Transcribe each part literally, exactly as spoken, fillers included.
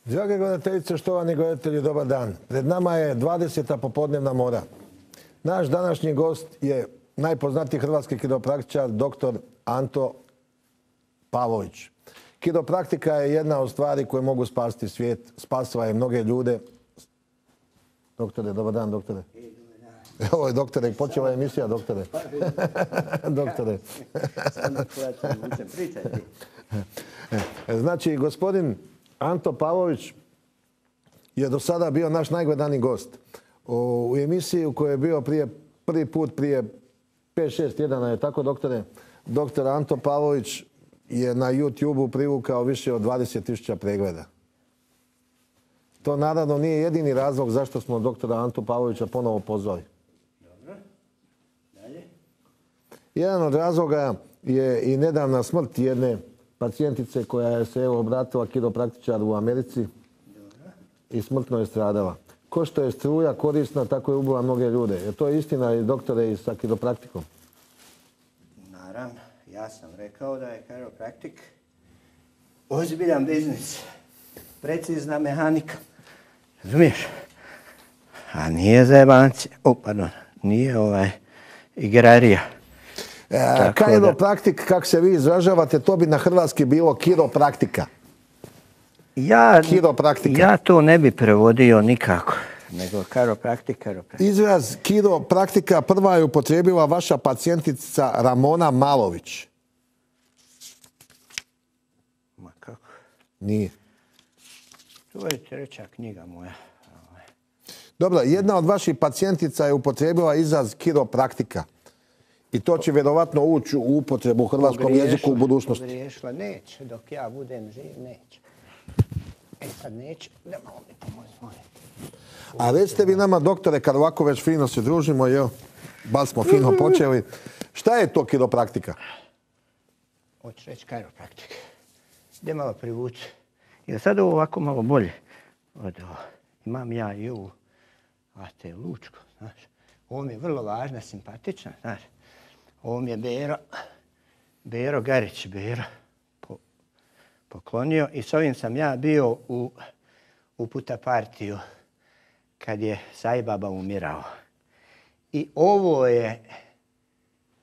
Drage gledateljice, štovani gledatelji, dobar dan. Pred nama je dvadeseta popodnevna mora. Naš današnji gost je najpoznatiji hrvatski kiropraktičar, doktor Anto Pavlović. Kiropraktika je jedna od stvari koje mogu spasiti svijet. Spasila je mnoge ljude. Doktore, dobar dan, doktore. Ovo je doktore, počela je emisija, doktore. Doktore. Znači, gospodin Anto Pavlović je do sada bio naš najgledaniji gost. U emisiji u kojoj je bio prije, prvi put prije pet šest tjedana, je tako, doktore? Doktor Anto Pavlović je na YouTube-u privukao više od dvadeset tisuća pregleda. To naravno nije jedini razlog zašto smo doktora Antu Pavlovića ponovo pozvali. Dobro. Dalje. Jedan od razloga je i nedavna smrt jedne pacijentice koja je se evo obratila kiropraktičaru u Americi. Dobro. I smrtno je stradala. Ko što je struja korisna, tako je ubila mnoge ljude. Je to istina i doktore i sa kiropraktikom? Naravno, ja sam rekao da je kiropraktik ozbiljan biznis. Precizna mehanika. Razumiješ? A nije zajebanci. O, pardon, nije ovaj igrarija. E, kiropraktik, kako se vi izražavate, to bi na hrvatski bilo kiropraktika. Ja, Kiropraktika. ja to ne bi prevodio nikako, nego kiropraktik, kiropraktik. Izraz kiropraktika prva je upotrijebila vaša pacijentica Ramona Malović. Ma kako? Nije. To je treća knjiga moja. Dobro, jedna od vaših pacijentica je upotrijebila izraz kiropraktika. I to će vjerovatno ući u upotrebu u hrvatskom jeziku u budućnosti. Pogriješila, neće, dok ja budem živ, neće. E sad neće, da malo mi pomoći. A recite vi nama, doktore, kad ovako već fino se družimo, jel, baš smo fino počeli, šta je to kiropraktika? Hoću reći kiropraktik. Gdje malo privući. Jer sad ovo ovako malo bolje. Od ovo. Imam ja i ovu A T Lučko, znaš. Ovo mi je vrlo važna, simpatična, znaš. Ovo mi je Bero, Bero Garić, Bero po, poklonio i s ovim sam ja bio u, u puta partiju kad je Sajbaba umirao. I ovo je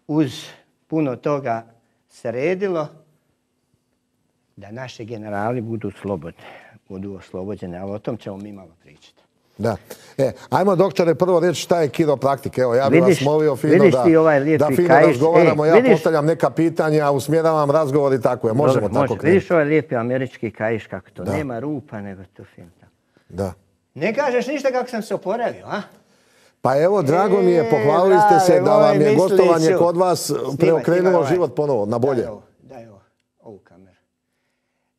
uz puno toga sredilo da naši generali budu slobodni, budu oslobođeni, ali o tom ćemo mi malo pričati. Da. E, ajmo, doktore, prvo reći šta je kiropraktik. Evo, ja bih vas molio fino da, ovaj da fino kajiš. razgovaramo. E, ja vidiš, postavljam neka pitanja, usmjeravam razgovor i tako je. Možemo dobro, tako može. krenuti. Vidiš ovaj lijepi američki kajiš kako to. Da. Nema rupa, nego to fino. Da. Ne kažeš ništa kako sam se oporavio, a? Pa evo, drago mi je, E, pohvalili ste se brave, da vam moj, je misli gostovanje ću. kod vas Snimaj, preokrenulo snimaj, život ponovo, na bolje. Daj ovo, daj ovo, ovu kameru.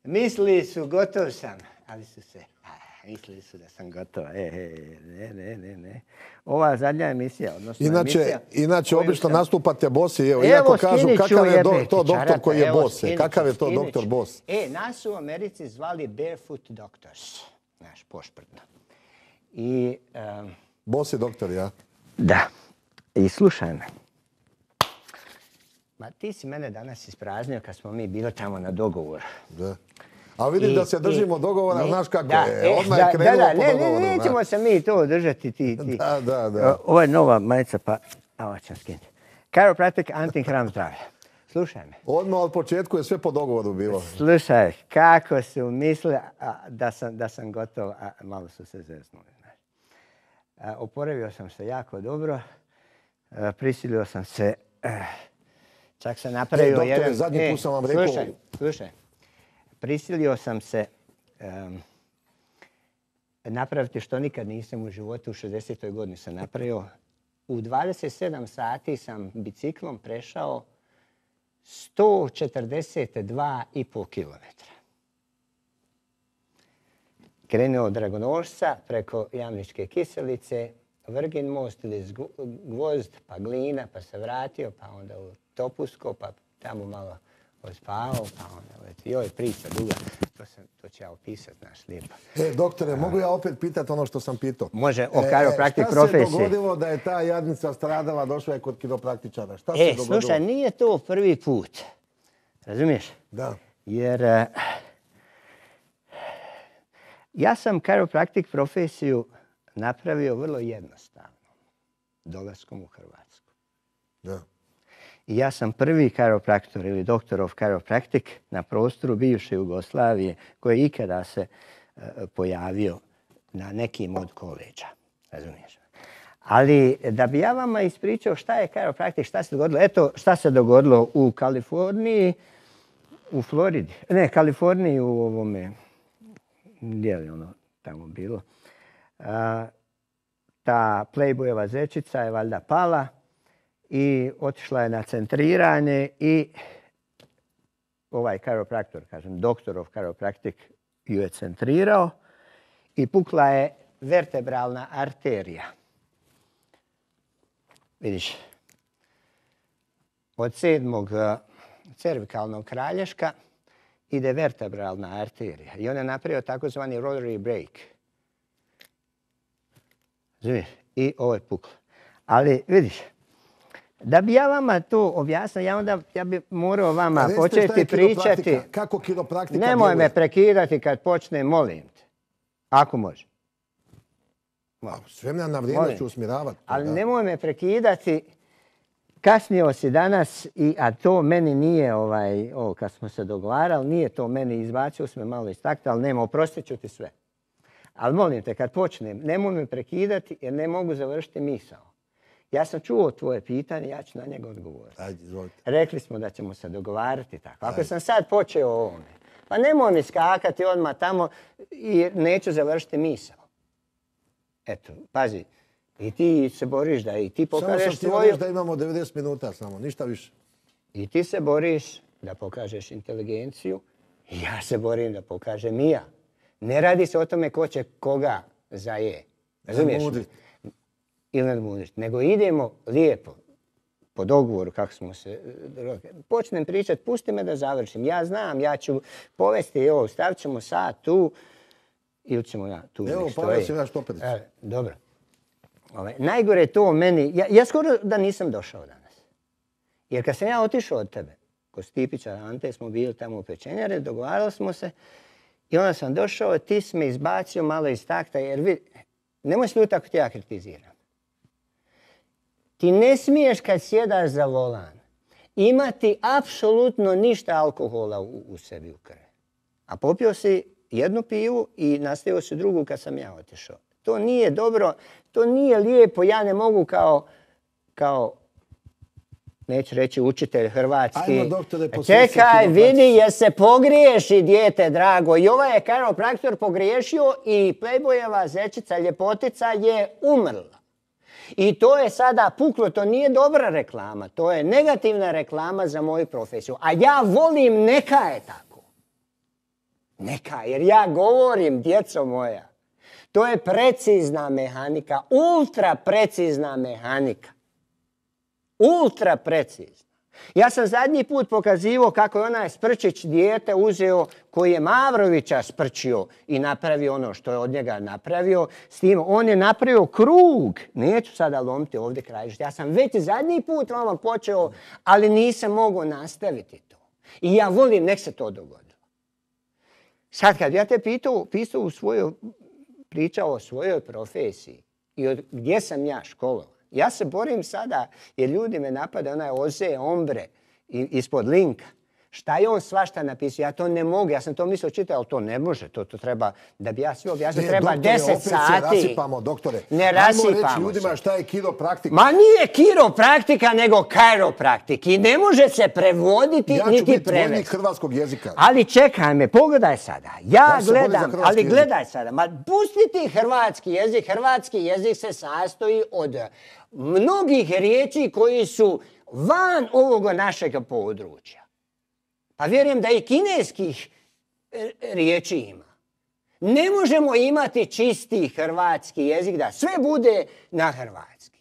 Mislili su, gotov sam, ali su se, a, mislili su da sam gotov. E, e, ne, ne, ne, ne. Ova zadnja emisija, odnosno Inače, emisija... inače koju obično sam- nastupate bosi, evo, Evo, iako kažu skinit ću, kakav je do- jebe, to doktor čarape, koji je evo, bos. skinit ću, Kakav je to skinit doktor ću. bos? E, nas su u Americi zvali Barefoot Doctors, znaš, pošprdno. I, em, Bos je doktor, ja? da, i slušaj me. Ma ti si mene danas ispraznio kad smo mi bili tamo na dogovor. Da. A vidim I- da se držimo i- dogovora, ne, znaš kako da, je. e, Odmah da, je krenulo da, po ne, dogovoru. Ne, nećemo se mi to držati, ti, ti. Da, da, da. O, ovo je nova majica, pa, ovo ćem skinuti. Chiropractic, antihram zdravlje. Slušaj me. Odmah od početku je sve po dogovoru bilo. Slušaj, kako su mislili a, da, sam, da sam gotov, a malo su se zeznuli. Znaš. A, oporavio sam se jako dobro, a, prisilio sam se, a, čak sam napravio E, doktore, jedan... zadnji put sam vam rekao- Slušaj, slušaj, prisilio sam se um, napraviti što nikad nisam u životu, u šezdesetoj godini sam napravio. U dvadeset sedam sati sam biciklom prešao sto četrdeset dva i pol kilometra. Krenuo od Dragonošca preko Jamničke Kiselice, Vrgin most ili Gvozd, pa Glina, pa se vratio, pa onda u Topusko, pa tamo malo ospavao, pa onda leti. Joj, priča duga, to, sam, to ću ja opisati, znaš, lijepo. E, doktore, mogu ja opet pitati ono što sam pitao? Može, o kiropraktik profesiji. Šta se dogodilo da je ta jadnica stradala, došla je kod kiropraktičara? Šta se E, dogodilo? slušaj, nije to prvi put. Razumiješ? Da. Jer uh, Ja sam chiropraktik profesiju napravio vrlo jednostavno. Dolaskom u Hrvatsku. Da. I ja sam prvi chiropraktor ili doktor of chiropractic na prostoru bivše Jugoslavije koji je ikada se uh, pojavio na nekim od koleđa. Razumiješ? Ali da bi ja vama ispričao šta je chiropraktik, šta se dogodilo. Eto šta se dogodilo u Kaliforniji, u Floridi. Ne, Kaliforniji u ovome, gdje je ono tamo bilo. Uh, ta Playboyeva zečica je valjda pala i otišla je na centriranje i ovaj chiropraktor, kažem, doktor of chiropractic ju je centrirao i pukla je vertebralna arterija. Vidiš, od sedmog cervikalnog kralješka ide vertebralna arterija i on je napravio takozvani rotary break. Razumiješ? I ovo je puklo. Ali vidiš, da bi ja vama to objasnio, ja onda ja bi morao vama početi pričati. Kako kiropraktika? Nemoj me prekidati kad počne, molim te. Ako može. S vremena na vrijeme ću usmjeravati. Ali nemoj me prekidati. Kasnio si danas, i, a to meni nije, ovaj, ovo kad smo se dogovarali, nije to meni izbacio, smo malo istakli, ali nema, oprostit ću ti sve. Ali molim te, kad počnem, nemoj me prekidati jer ne mogu završiti misao. Ja sam čuo tvoje pitanje, ja ću na njega odgovoriti. Ajde, izvolite. Rekli smo da ćemo se dogovarati tako. Ako Ajde. sam sad počeo o ovome, pa nemoj mi skakati odmah tamo i neću završiti misao. Eto, pazi, i ti se boriš da i ti pokažeš svoju... Samo sam ti da imamo devedeset minuta samo, ništa više. I ti se boriš da pokažeš inteligenciju i ja se borim da pokažem i ja. Ne radi se o tome ko će koga zaje. Razumiješ? Ili nadmudriti. Nego idemo lijepo, po dogovoru kako smo se... Počnem pričati, pusti me da završim. Ja znam, ja ću povesti, evo, stavit ćemo sad tu ili ćemo ja tu. Evo, povesti naš toperić. E, dobro. Ove, najgore je to meni... Ja, ja skoro da nisam došao danas. Jer kad sam ja otišao od tebe, kod Stipića Ante, smo bili tamo u pečenjare, dogovarali smo se i onda sam došao, ti si me izbacio malo iz takta, jer vidi, nemoj se ljuti ako ti ja kritiziram. Ti ne smiješ kad sjedaš za volan imati apsolutno ništa alkohola u, u sebi u krvi. A popio si jednu pivu i nastavio si drugu kad sam ja otišao. To nije dobro, to nije lijepo, ja ne mogu kao, kao neću reći učitelj hrvatski. Ajmo, doktore, čekaj, vidi, jer se pogriješi, dijete drago. I ovaj je chiropraktor pogriješio i Playboyeva zečica, ljepotica je umrla. I to je sada puklo, to nije dobra reklama, to je negativna reklama za moju profesiju. A ja volim, neka je tako. Neka, jer ja govorim, djeco moja, to je precizna mehanika, ultra precizna mehanika. Ultra precizna. Ja sam zadnji put pokazivao kako je onaj Sprčić dijete uzeo koji je Mavrovića sprčio i napravio ono što je od njega napravio. S tim on je napravio krug. Neću sada lomiti ovdje krajište. Ja sam već zadnji put vama počeo, ali nisam mogao nastaviti to. I ja volim, nek se to dogodilo. Sad kad ja te pitao, pisao u svojoj, pričao o svojoj profesiji i od, gdje sam ja školovan. Ja se borim sada jer ljudi me napade, onaj Oze Ombre ispod linka. Šta je on svašta napisao? Ja to ne mogu, ja sam to mislio čitati, ali to ne može. To, to treba, da bi ja sve objasnio, treba deset sati. Ne, rasipamo, doktore. Ne rasipamo se. Ajmo reći ljudima šta je kiropraktika. Ma nije kiropraktika, nego chiropraktik. I ne može se prevoditi, ja niti prevesti. Ja ću biti vojnik hrvatskog jezika. Ali čekaj me, pogledaj sada. Ja, ja gledam, ali gledaj jezik. sada. Ma pusti ti hrvatski jezik. Hrvatski jezik se sastoji od mnogih riječi koji su van ovoga našeg područja. Pa vjerujem da i kineskih riječi ima. Ne možemo imati čisti hrvatski jezik, da sve bude na hrvatski.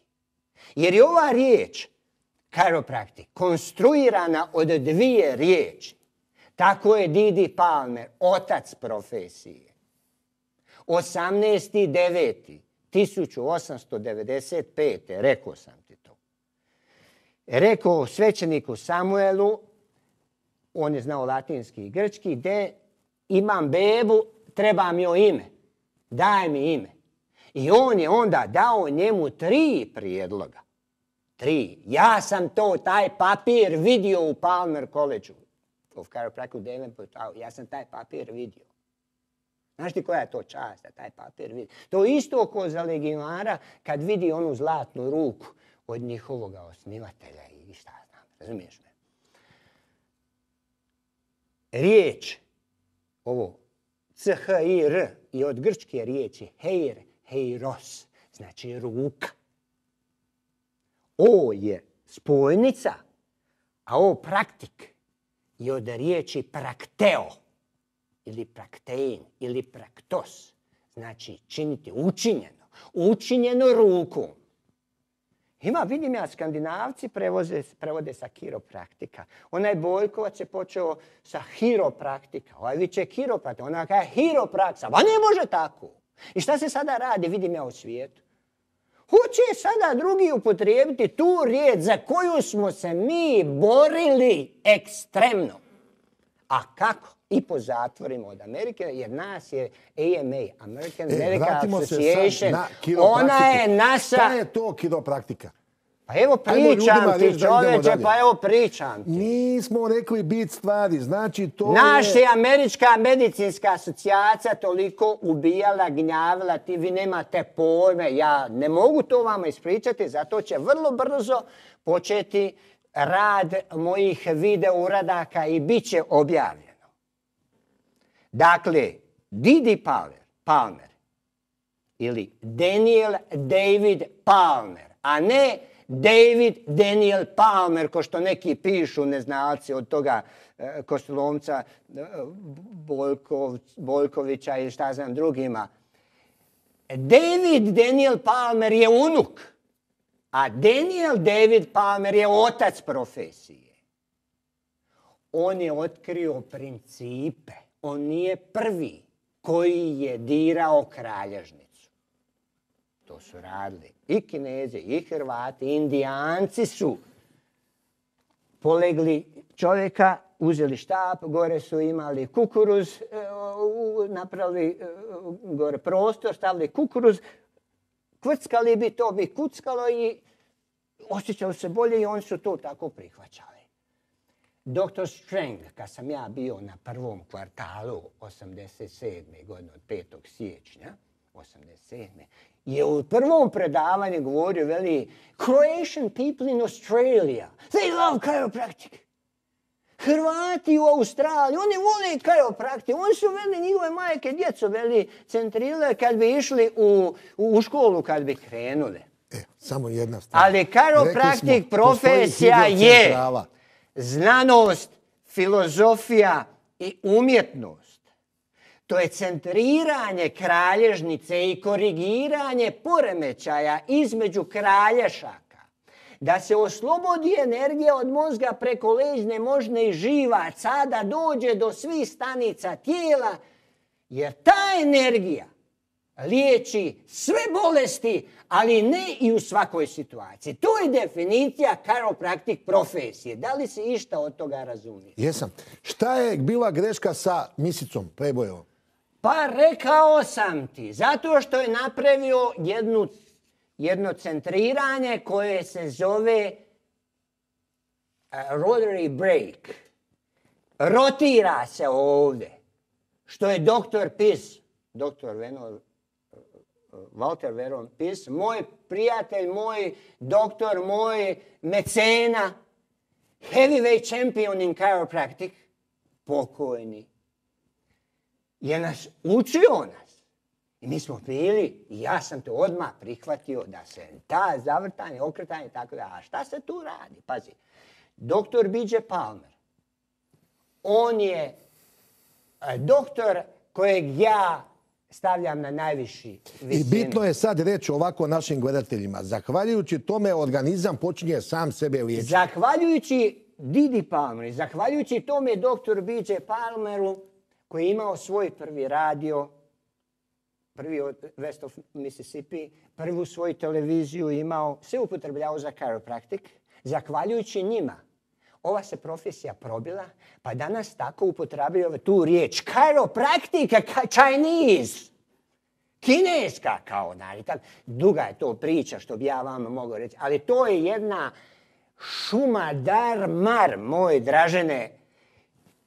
Jer je ova riječ, chiropraktik, konstruirana od dvije riječi. Tako je Didi Palmer, otac profesije. osamnaesti deveti tisuću osamsto devedeset pete. rekao sam ti to. Rekao svećeniku Samuelu, on je znao latinski i grčki, gdje imam bebu, trebam joj ime. Daj mi ime. I on je onda dao njemu tri prijedloga. Tri. Ja sam to, taj papir vidio u Palmer College of Chiropractic u Davenportu. Ja sam taj papir vidio. Znaš ti koja je to čast da taj papir vidi? To je isto ko za legionara kad vidi onu zlatnu ruku od njihovoga osnivatelja i šta znam. Razumiješ me? Riječ, ovo, C H I R i od grčke riječi heir, heiros, znači ruka. O je spojnica, a o praktik je od riječi prakteo ili praktein ili praktos, znači činiti učinjeno, učinjeno rukom. Ima, vidim ja, Skandinavci prevoze, prevode sa kiropraktika. Onaj Boljkovac je počeo sa hiropraktika. Ovaj viče kiropraktika. Ona kaže hiropraksa. Pa ne može tako. I šta se sada radi, vidim ja u svijetu? Hoće sada drugi upotrijebiti tu riječ za koju smo se mi borili ekstremno. A kako? I po zatvorima od Amerike, jer nas je A M A, American E, Medical vratimo se Association. sad na kiropraktiku. Ona je naša... Šta je to kiropraktika? Pa evo Ajmo ljudima pričam reći ti, da idemo čoveče, dalje. pa evo pričam ti. Nismo rekli bit stvari, znači to Naša je... je Američka medicinska asocijacija toliko ubijala, gnjavila, ti vi nemate pojme. Ja ne mogu to vama ispričati, zato će vrlo brzo početi rad mojih video uradaka i bit će objavljeno. Dakle, Didi Palmer, Palmer ili Daniel David Palmer, a ne David Daniel Palmer, ko što neki pišu neznalci od toga e, Kostolomca, e, Boljkov, Boljkovića ili šta znam drugima. David Daniel Palmer je unuk, a Daniel David Palmer je otac profesije. On je otkrio principe. On nije prvi koji je dirao kralježnicu. To su radili i Kinezi, i Hrvati, i Indijanci su polegli čovjeka, uzeli štap, gore su imali kukuruz, napravili gore prostor, stavili kukuruz, kvrckali bi, to bi kuckalo i osjećali se bolje i oni su to tako prihvaćali. doktor Strang, kad sam ja bio na prvom kvartalu osamdeset sedme godine, od petog siječnja osamdeset sedme je u prvom predavanju govorio, veli, Croatian people in Australia, they love chiropractic. Hrvati u Australiji, oni vole chiropractic. Oni su, veli, njihove majke, djeco, veli, centrile kad bi išli u, u školu, kad bi krenule. E, samo jedna stvar. Ali chiropractic profesija je znanost, filozofija i umjetnost. To je centriranje kralježnice i korigiranje poremećaja između kralješaka. Da se oslobodi energija od mozga preko leđne, možne i živaca, da dođe do svih stanica tijela, jer ta energija liječi sve bolesti, ali ne i u svakoj situaciji. To je definicija chiropractic profesije. Da li si išta od toga razumije? Jesam. Šta je bila greška sa misicom, Prebojevom? Pa rekao sam ti, zato što je napravio jednu, jedno centriranje koje se zove uh, rotary break. Rotira se ovdje. Što je doktor Pis, doktor Venor, Walter Veron Pis, moj prijatelj, moj doktor, moj mecena, heavyweight champion in chiropractic, pokojni, je nas učio nas. I mi smo bili, i ja sam to odmah prihvatio da se ta zavrtanje, okretanje, tako da. A šta se tu radi? Pazi, doktor B J Palmer, on je doktor kojeg ja stavljam na najviši visinu. I bitno je sad reći ovako našim gledateljima. Zahvaljujući tome organizam počinje sam sebe liječiti. Zahvaljujući Didi Palmeru, zahvaljujući tome doktoru B J Palmeru, koji je imao svoj prvi radio, prvi od West of Mississippi, prvu svoju televiziju imao, sve upotrebljavao za chiropractic. Zahvaljujući njima, ova se profesija probila, pa danas tako upotrebljava tu riječ. Chiropractic, Chinese. Kineska kao, znači, tak, duga je to priča što bi ja vama mogao reći, ali to je jedna šuma dar mar, moj Dražene,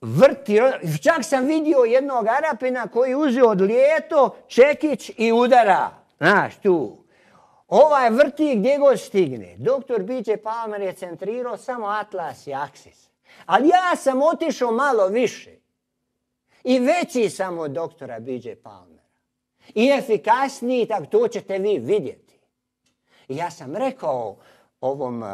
vrti, čak sam vidio jednog Arapina koji uzeo od lijeto čekić i udara, znaš, tu. Ovaj vrti gdje god stigne. Doktor B J Palmer je centrirao samo Atlas i Aksis. Ali ja sam otišao malo više. I veći sam od doktora B J Palmera. I efikasniji, tako to ćete vi vidjeti. I ja sam rekao ovom uh,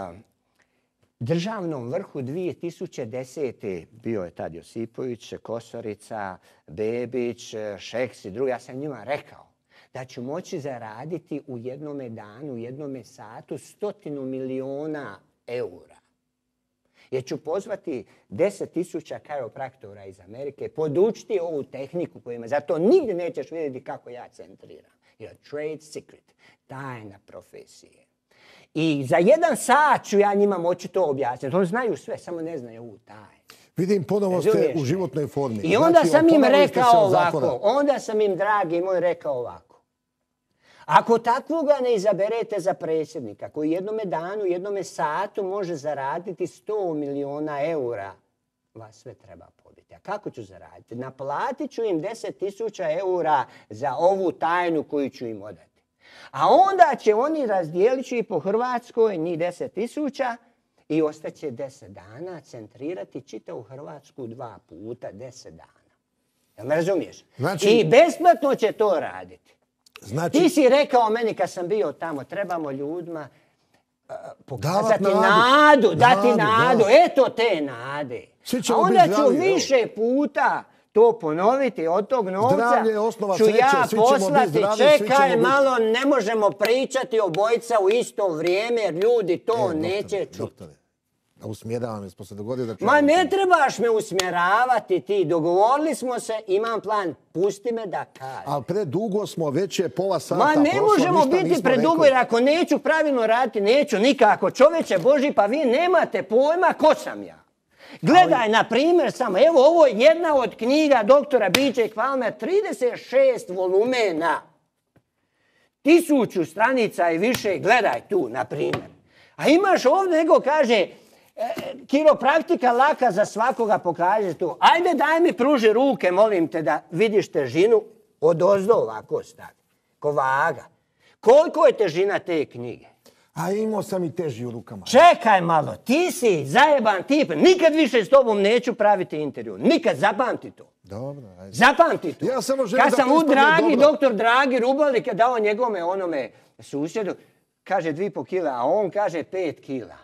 državnom vrhu dvije tisuće desete. bio je tad Josipović, Kosorica, Bebić, Šeks i drugi. Ja sam njima rekao da ću moći zaraditi u jednome danu, u jednome satu stotinu miliona eura. Jer ću pozvati deset tisuća kajropraktora iz Amerike, podučiti ovu tehniku koju ima. Zato nigdje nećeš vidjeti kako ja centriram. Jer trade secret, tajna profesije. I za jedan sat ću ja njima moći to objasniti. Oni znaju sve, samo ne znaju ovu tajnu. Vidim, ponovo ste u životnoj formi. I onda sam im rekao ovako, onda sam im, dragi moj, rekao ovako. Ako takvoga ne izaberete za predsjednika, koji jednome danu, jednome satu može zaraditi sto miliona eura, vas sve treba pobiti. A kako ću zaraditi? Naplatit ću im deset tisuća eura za ovu tajnu koju ću im odati. A onda će oni razdijelit ću i po Hrvatskoj njih deset tisuća i ostaće deset dana centrirati čitavu Hrvatsku dva puta, deset dana. Jel me razumiješ? Znači... I besplatno će to raditi. Znači... Ti si rekao meni kad sam bio tamo, trebamo ljudima uh, pokazati nadu, nadu, dati nadu, nadu, da. eto te nade. A onda ću zdravi, više evo. puta to ponoviti, od tog novca ću sreće, ja poslati, zdravi, čekaj malo, biti... ne možemo pričati obojica u isto vrijeme, jer ljudi to e, neće čuti. Doktore, da usmjeravam, jer smo se dogodili da... Ma ne trebaš me usmjeravati ti, dogovorili smo se, imam plan, pusti me da kažem. Ali predugo smo, već je pola sata. Ma ne prošlo, možemo biti predugo, jer ako neću pravilno raditi, neću nikako. Čovječe Boži, pa vi nemate pojma ko sam ja. Gledaj, ali... na primjer, samo, evo ovo je jedna od knjiga doktora B J Palmer, trideset šest volumena. Tisuću stranica i više, gledaj tu, na primjer. A imaš ovdje, nego kaže, kiropraktika laka za svakoga, pokaže tu. Ajde, daj mi pruži ruke, molim te, da vidiš težinu od ozdo ovako stavi. Ko vaga. Koliko je težina te knjige? A imao sam i teži u rukama. Čekaj malo, ti si zajeban tip. Nikad više s tobom neću praviti intervju. Nikad, zapamti to. Dobro, ajde. Zapamti to. Ja samo želim kad da sam u Dragi, dobro. doktor Dragi Rubalik je dao njegome onome susjedu, kaže dvi po kila, a on kaže pet kila.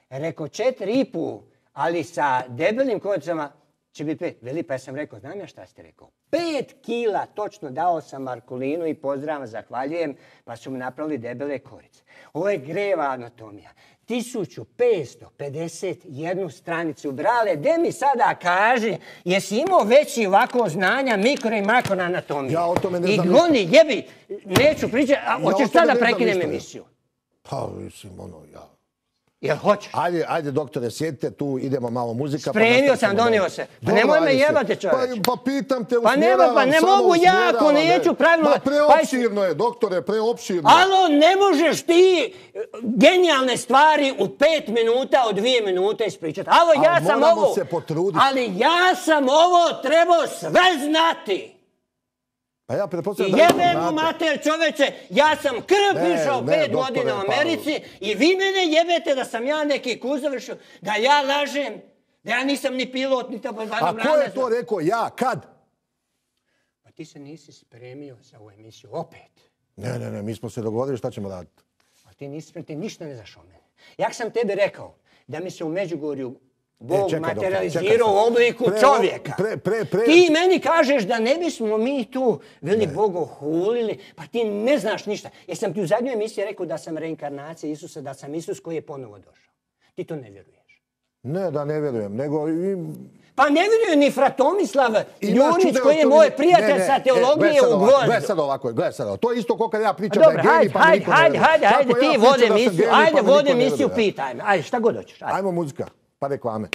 Rekao četiri i pol, ali sa debelim kodicama će biti pet. Veli, pa ja sam rekao, znam ja šta ste rekao? Pet kila, točno dao sam Markulinu i pozdravam, zahvaljujem, pa su mu napravili debele korice. Ovo je greva anatomija. tisuću petsto pedeset jednu stranicu. Brale, gdje mi sada kaže, jesi imao veći ovako znanja mikro i makro anatomije? Ja o tome ne I znam goni, jebi, neću pričati, a ja hoćeš sada prekinem emisiju? Pa, mislim, ono, ja... Jel hoćeš? Ajde, ajde, doktore, sjedite tu, idemo malo muzika. Spremio pa sam, donio se. Pa nemoj me jebati, čovječe. Pa, pa pitam te, pa nema, pa ne mogu ja ako neću pravilno... Ma preopširno je, doktore, preopširno. Alo, ne možeš ti genijalne stvari u pet minuta, u dvije minute ispričati. Alo, ja ali sam moramo ovo... se potruditi. Ali ja sam ovo trebao sve znati. Pa ja pretpostavljam I da jebe mu mater, čoveče, ja sam krv pišao pet doktore, godina u pa- Americi i vi mene jebete da sam ja neki kuz završio, da ja lažem, da ja nisam ni pilot, ni tamo... A ko je to rekao? Ja? Kad? Pa ti se nisi spremio za ovu emisiju, opet. Ne, ne, ne, mi smo se dogovorili šta ćemo raditi. A ti nisi spremio, ti ništa ne znaš o mene. Jak sam tebi rekao da mi se u Međugorju Bog čekaj, materializirao u obliku Pre- čovjeka. pre- pre- pre- Ti meni kažeš da ne bismo mi tu veli Bogo hulili, pa ti ne znaš ništa. Jer sam ti u zadnjoj emisiji rekao da sam reinkarnacija Isusa, da sam Isus koji je ponovo došao. Ti to ne vjeruješ. Ne, da ne vjerujem, nego... i- Pa ne vjeruje ni fra Tomislav Ima Ljunić čudo koji je to moj vidi- prijatelj ne, ne, sa e, teologije gle sad u ovako, Gvozdu. Gle sad ovako, gle sad ovako. To je isto kao kad ja pričam Dobro, da je genij, hajde, pa mi hajde, niko ne hajde, vjeruje. hajde, Tako hajde, ja ti pričam vodi da sam emisiju, genij, ajde pa mi vodi niko ne emisiju, vjeruje. pitaj me. Ajde, šta god hoćeš, ajde. Ajmo muzika, pa reklame.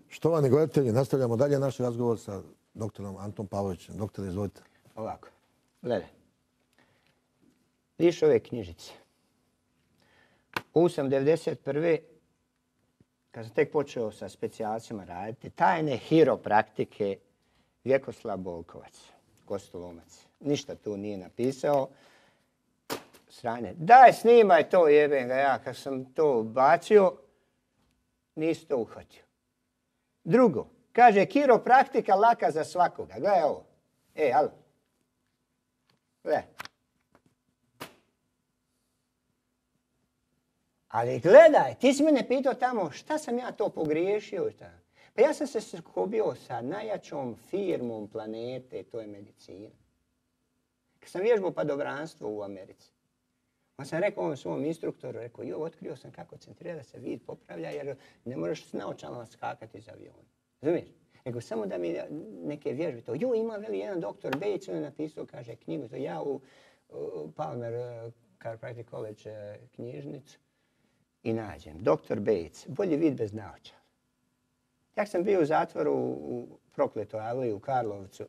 Štovani gledatelji, nastavljamo dalje naš razgovor sa doktorom Antom Pavlovićem. Doktore, izvolite. Ovako. Gledaj. Vidiš ove knjižice. U sam devedeset prve kad sam tek počeo sa specijalcima raditi, tajne hiropraktike Vjekoslav Bolkovac, Kostolomac. Ništa tu nije napisao. Sranje. Daj, snimaj to, jebem ga ja. Kad sam to bacio, nisi to uhvatio. Drugo, kaže, kiropraktika laka za svakoga. Gledaj ovo. E, alo. Gledaj. Ali gledaj, ti si mene pitao tamo šta sam ja to pogriješio. Pa ja sam se sukobio sa najjačom firmom planete, to je medicina. Kad sam vježbao padobranstvo u Americi, on sam rekao ovom svom instruktoru, rekao, jo, otkrio sam kako centrira da se vid popravlja, jer ne možeš s naočalama skakati iz aviona. Razumiješ? Nego samo da mi neke vježbe to. Jo, ima veli jedan doktor Bates, on je napisao, kaže, knjigu, to ja u, u Palmer uh, Chiropractic College uh, knjižnicu i nađem. doktor Bates, bolji vid bez naočala. Ja sam bio u zatvoru u Prokletoj aliji u Karlovcu.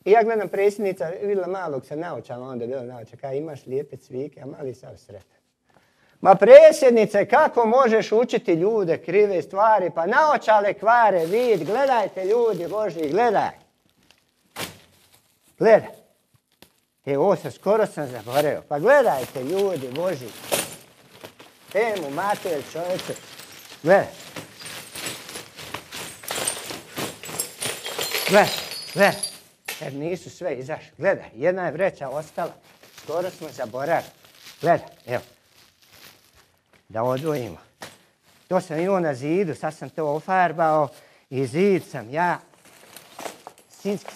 I ja gledam predsjednica, vidjela malog sa naočalom, onda je bila naočala, kaj imaš lijepe cvike, a mali sav sretan. Ma predsjednice, kako možeš učiti ljude krive stvari? Pa naočale kvare vid, gledajte ljudi Božji, gledaj. Gledaj. E, ovo sam, skoro sam zaboravio. Pa gledajte ljudi Božji. Temu, mater, čovječe. Gledaj. Gledaj, gledaj. Jer nisu sve izašli. Gledaj, jedna je vreća ostala. Skoro smo zaboravili. Gledaj, evo. Da odvojimo. To sam imao na zidu, sad sam to ofarbao i zid sam ja.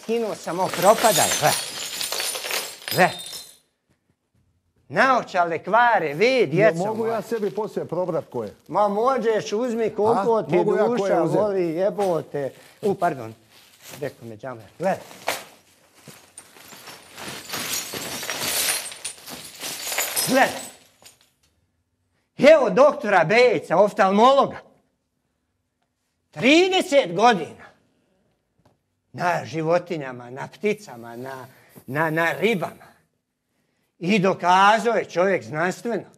Skinuo sam ovo propadaj. Gledaj. Naočale kvare, vid, djeco moja. Mogu ja sebi poslije probrat koje? Ma možeš, uzmi koliko ti duša voli, jebote. U, pardon. Rekao me džamer. Gledaj. Gledaj. Evo doktora Bejca, oftalmologa. trideset godina. Na životinjama, na pticama, na, na, na ribama. I dokazao je čovjek znanstveno.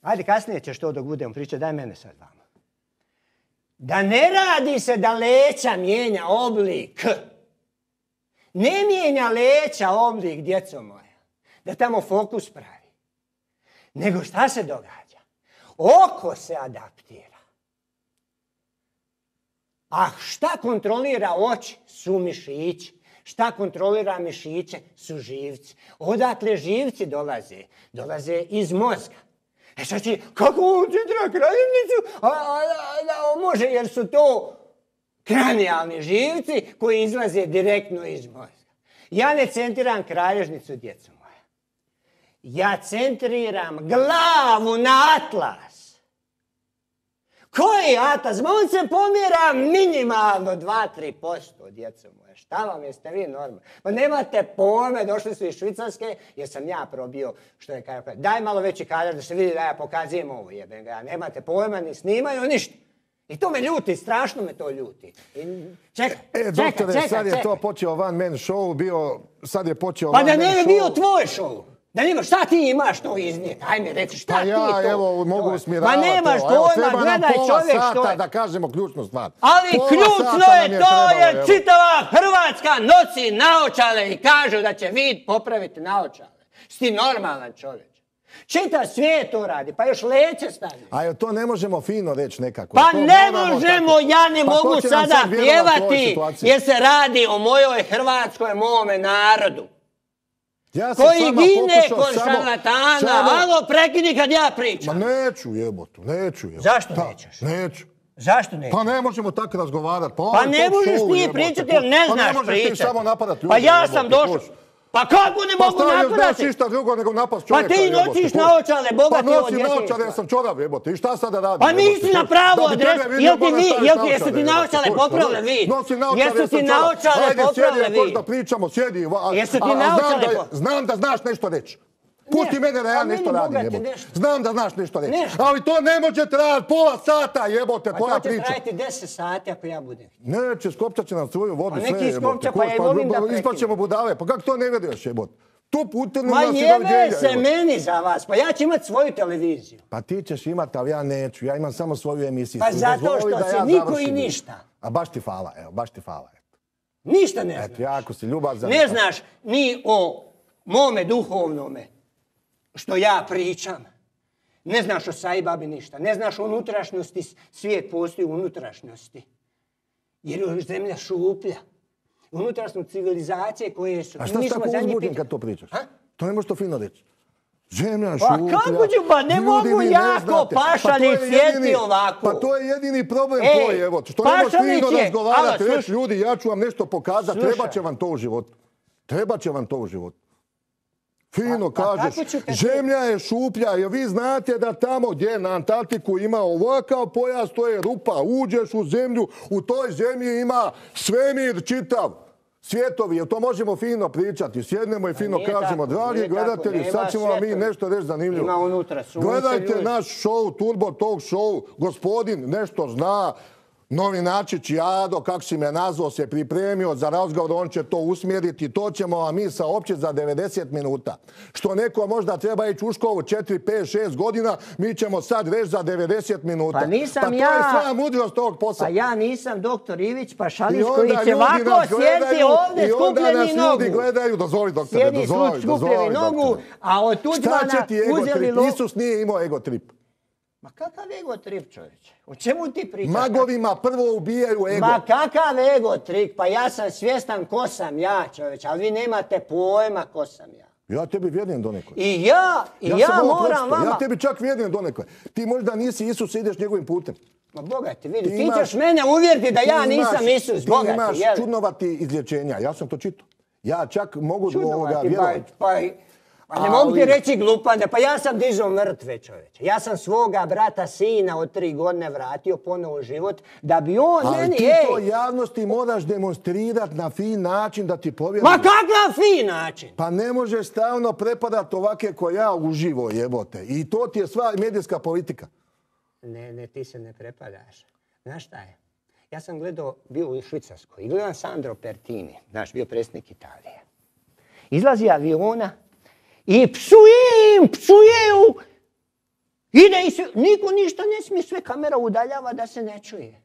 Ajde, kasnije ćeš to dok budemo pričati, daj mene sad vama. Da ne radi se da leća mijenja oblik. Ne mijenja leća oblik, djeco moja. Da tamo fokus pravi. Nego šta se događa? Oko se adaptira. A šta kontrolira oči? Su mišići. Šta kontrolira mišiće? Su živci. Odakle živci dolaze? Dolaze iz mozga. E sad ti, kako on centra kraljevnicu? A, a, a, a, može, jer su to kranijalni živci koji izlaze direktno iz mozga. Ja ne centriram kralježnicu, djeco moja. Ja centriram glavu na atlas. Koji atlas? Ma on se pomjera minimalno dva do tri posto, djeco moja. Šta vam jeste vi normalni? Pa nemate pojme, došli su iz Švicarske, jer sam ja probio što je kaj. Daj malo veći kadar da se vidi da ja pokazujem ovo, jebem ga. Nemate pojma, ni snimaju, ništa. I to me ljuti, strašno me to ljuti. I čekaj, e, čekaj, doktore, čekaj, sad je čekaj. to počeo one man show, bio, sad je počeo pa one man show. Pa da ne bi bio tvoj show. Da nemaš, šta ti imaš to iznijeti? Ajme, reci, šta pa ti ja, to? Pa ja, evo, mogu usmjeravati. Ma nemaš pojma, gledaj čovjek što je. Da kažemo ključnu stvar. Ali pola ključno je to trebalo, jer evo. čitava Hrvatska nosi naočale i kažu da će vid popraviti naočale. Si ti normalan čovjek. Čitav svijet to radi, pa još leće stavlja. A to ne možemo fino reći nekako. Pa to ne moramo možemo, tako. ja ne pa mogu sada sada pjevati jer se radi o mojoj Hrvatskoj, mome narodu. Ja sam koji gine pokušao, kod samo, šarlatana. samo... Alo, prekini kad ja pričam. Ma neću jebotu, neću jebotu. Zašto Ta, nećeš? Neću. Zašto nećeš? Pa ne možemo tako razgovarati. Pa, pa ne možeš ti pričati jer ne znaš pričati. Pa ne možeš pričati. Ti samo napadati ljudi. Pa ja jebote, sam došao. Puš. Pa kako ne pa mogu napadati? Pa ništa drugo nego napast Pa čovjeka. ti jebote, nosiš puš. naočale, bogati pa od nosim djetinjstva. naočale, ja sam čorav jebote. I šta sada radim? Pa nisi na pravu adresu. Jel ti vi, jel ti, jesu ti naočale popravile vid? Nosim naočale, Jesu ti naočale popravile vid? Ajde, sjedi, da pričamo, sjedi. Jesu ti naočale popravile? Znam da znaš nešto reći. Pusti Ne, mene da ja a nešto meni, radim, bogate, jebote. nešto. Znam da znaš nešto reći. Nešto. Ali to ne može trajati pola sata, jebote, Pa tvoja to će priča. trajati deset sati ako ja budem. Neće, skopčat će nam svoju vodu, Pa sve neki jebote. iskopča, pa ja i volim da prekinem. Ispaćemo budale, pa kako to ne vidiš, jebote? Tu putem Ma jebe se meni za vas, pa ja ću imat svoju televiziju. Pa ti ćeš imat, ali ja neću. Ja imam samo svoju emisiju. Pa zato što si niko i ništa. A baš ti hvala, evo, baš ti hvala. Ništa ne znaš. Eto, jako si ljubazan. Ne znaš ni o mome duhovnome, što ja pričam. Ne znaš o Sai Babi ništa. Ne znaš o unutrašnjosti, svijet postoji u unutrašnjosti. Jer je zemlja šuplja. Unutrašnjost civilizacije koje su... A šta si tako uzbuđen kad to pričaš? Ha? To ne možeš to fino reći. Zemlja Pa šuplja. kako ću, pa ne Ljudi, mogu vi ne jako znate. Pašalić Pa to je jedini- sjeti ovako. Pa to je jedini problem Ej, tvoj, evo. Što ne možeš Pašalić fino je- razgovarati, Alo, reći slušaj. ljudi, ja ću vam nešto pokazati, Slušaj. treba će vam to u životu. Treba će vam to u životu. Fino Pa- pa kažeš, kako ću kad- zemlja je šuplja, jer vi znate da tamo gdje na Antarktiku ima ovakav pojas, to je rupa, uđeš u zemlju, u toj zemlji ima svemir čitav. Svjetovi, jer to možemo fino pričati. Sjednemo i fino nije kažemo, tako, dragi nije tako, gledatelji, nema sad ćemo vam mi svjetovi. nešto reći zanimljivo. Ima unutra sunce, Gledajte ljudi. naš show, Turbo Talk show, gospodin nešto zna, novinačić Jado, kako si me nazvao, se pripremio za razgovor, on će to usmjeriti, to ćemo vam mi saopćiti za devedeset minuta. Što neko možda treba ići u školu četiri, pet, šest godina, mi ćemo sad reći za devedeset minuta. Pa nisam pa to ja- je sva mudrost tog posla. Pa ja nisam doktor Ivić I Pašalić onda koji će ljudi ovako nas sjeti gledaju, ovdje i onda nas skupljeni nogu. ljudi gledaju, dozvoli doktore, Sjedi dozvoli, skupljeni dozvoli nogu, doktore. a od Šta će Tuđmana ti ego uzeli trip? lo... Isus nije imao ego trip. Ma kakav ego trip, čovječe? O čemu ti pričaš? Magovima prvo ubijaju ego. Ma kakav ego trik? Pa ja sam svjestan ko sam ja, čovječe, ali vi nemate pojma ko sam ja. Ja tebi vjerujem donekle. I ja, i ja, sam ovo moram pročitao. vama... Ja tebi čak vjerujem donekle. Ti možda nisi Isus i ideš njegovim putem. Ma Boga ti vidi, Ti ti, imaš- ćeš mene uvjeriti da Ti ja imaš- nisam Isus, Boga Ti ti, imaš jel? čudnovati izlječenja. Ja sam to čitao. Ja čak mogu do ovoga Čudnovati, pa, vjerovati. pa, pa ne mogu ti Ali- reći glupane, pa ja sam dizao mrtve, čovječe. Ja sam svoga brata sina od tri godine vratio ponovo u život, da bi on Ali meni, ti to ej... javnosti moraš demonstrirati na fin način da ti povjeruju. Ma kakav fin način! Pa ne možeš stalno prepadati ovake ko ja uživo, jebote. I to ti je sva medijska politika. Ne, ne, ti se ne prepadaš. Znaš šta je? Ja sam gledao, bio u Švicarskoj i gledam Sandro Pertini, naš bio predsjednik Italije. Izlazi aviona i psuje im, psuje ju. Ide i sve, niko ništa ne smije, sve kamera udaljava da se ne čuje.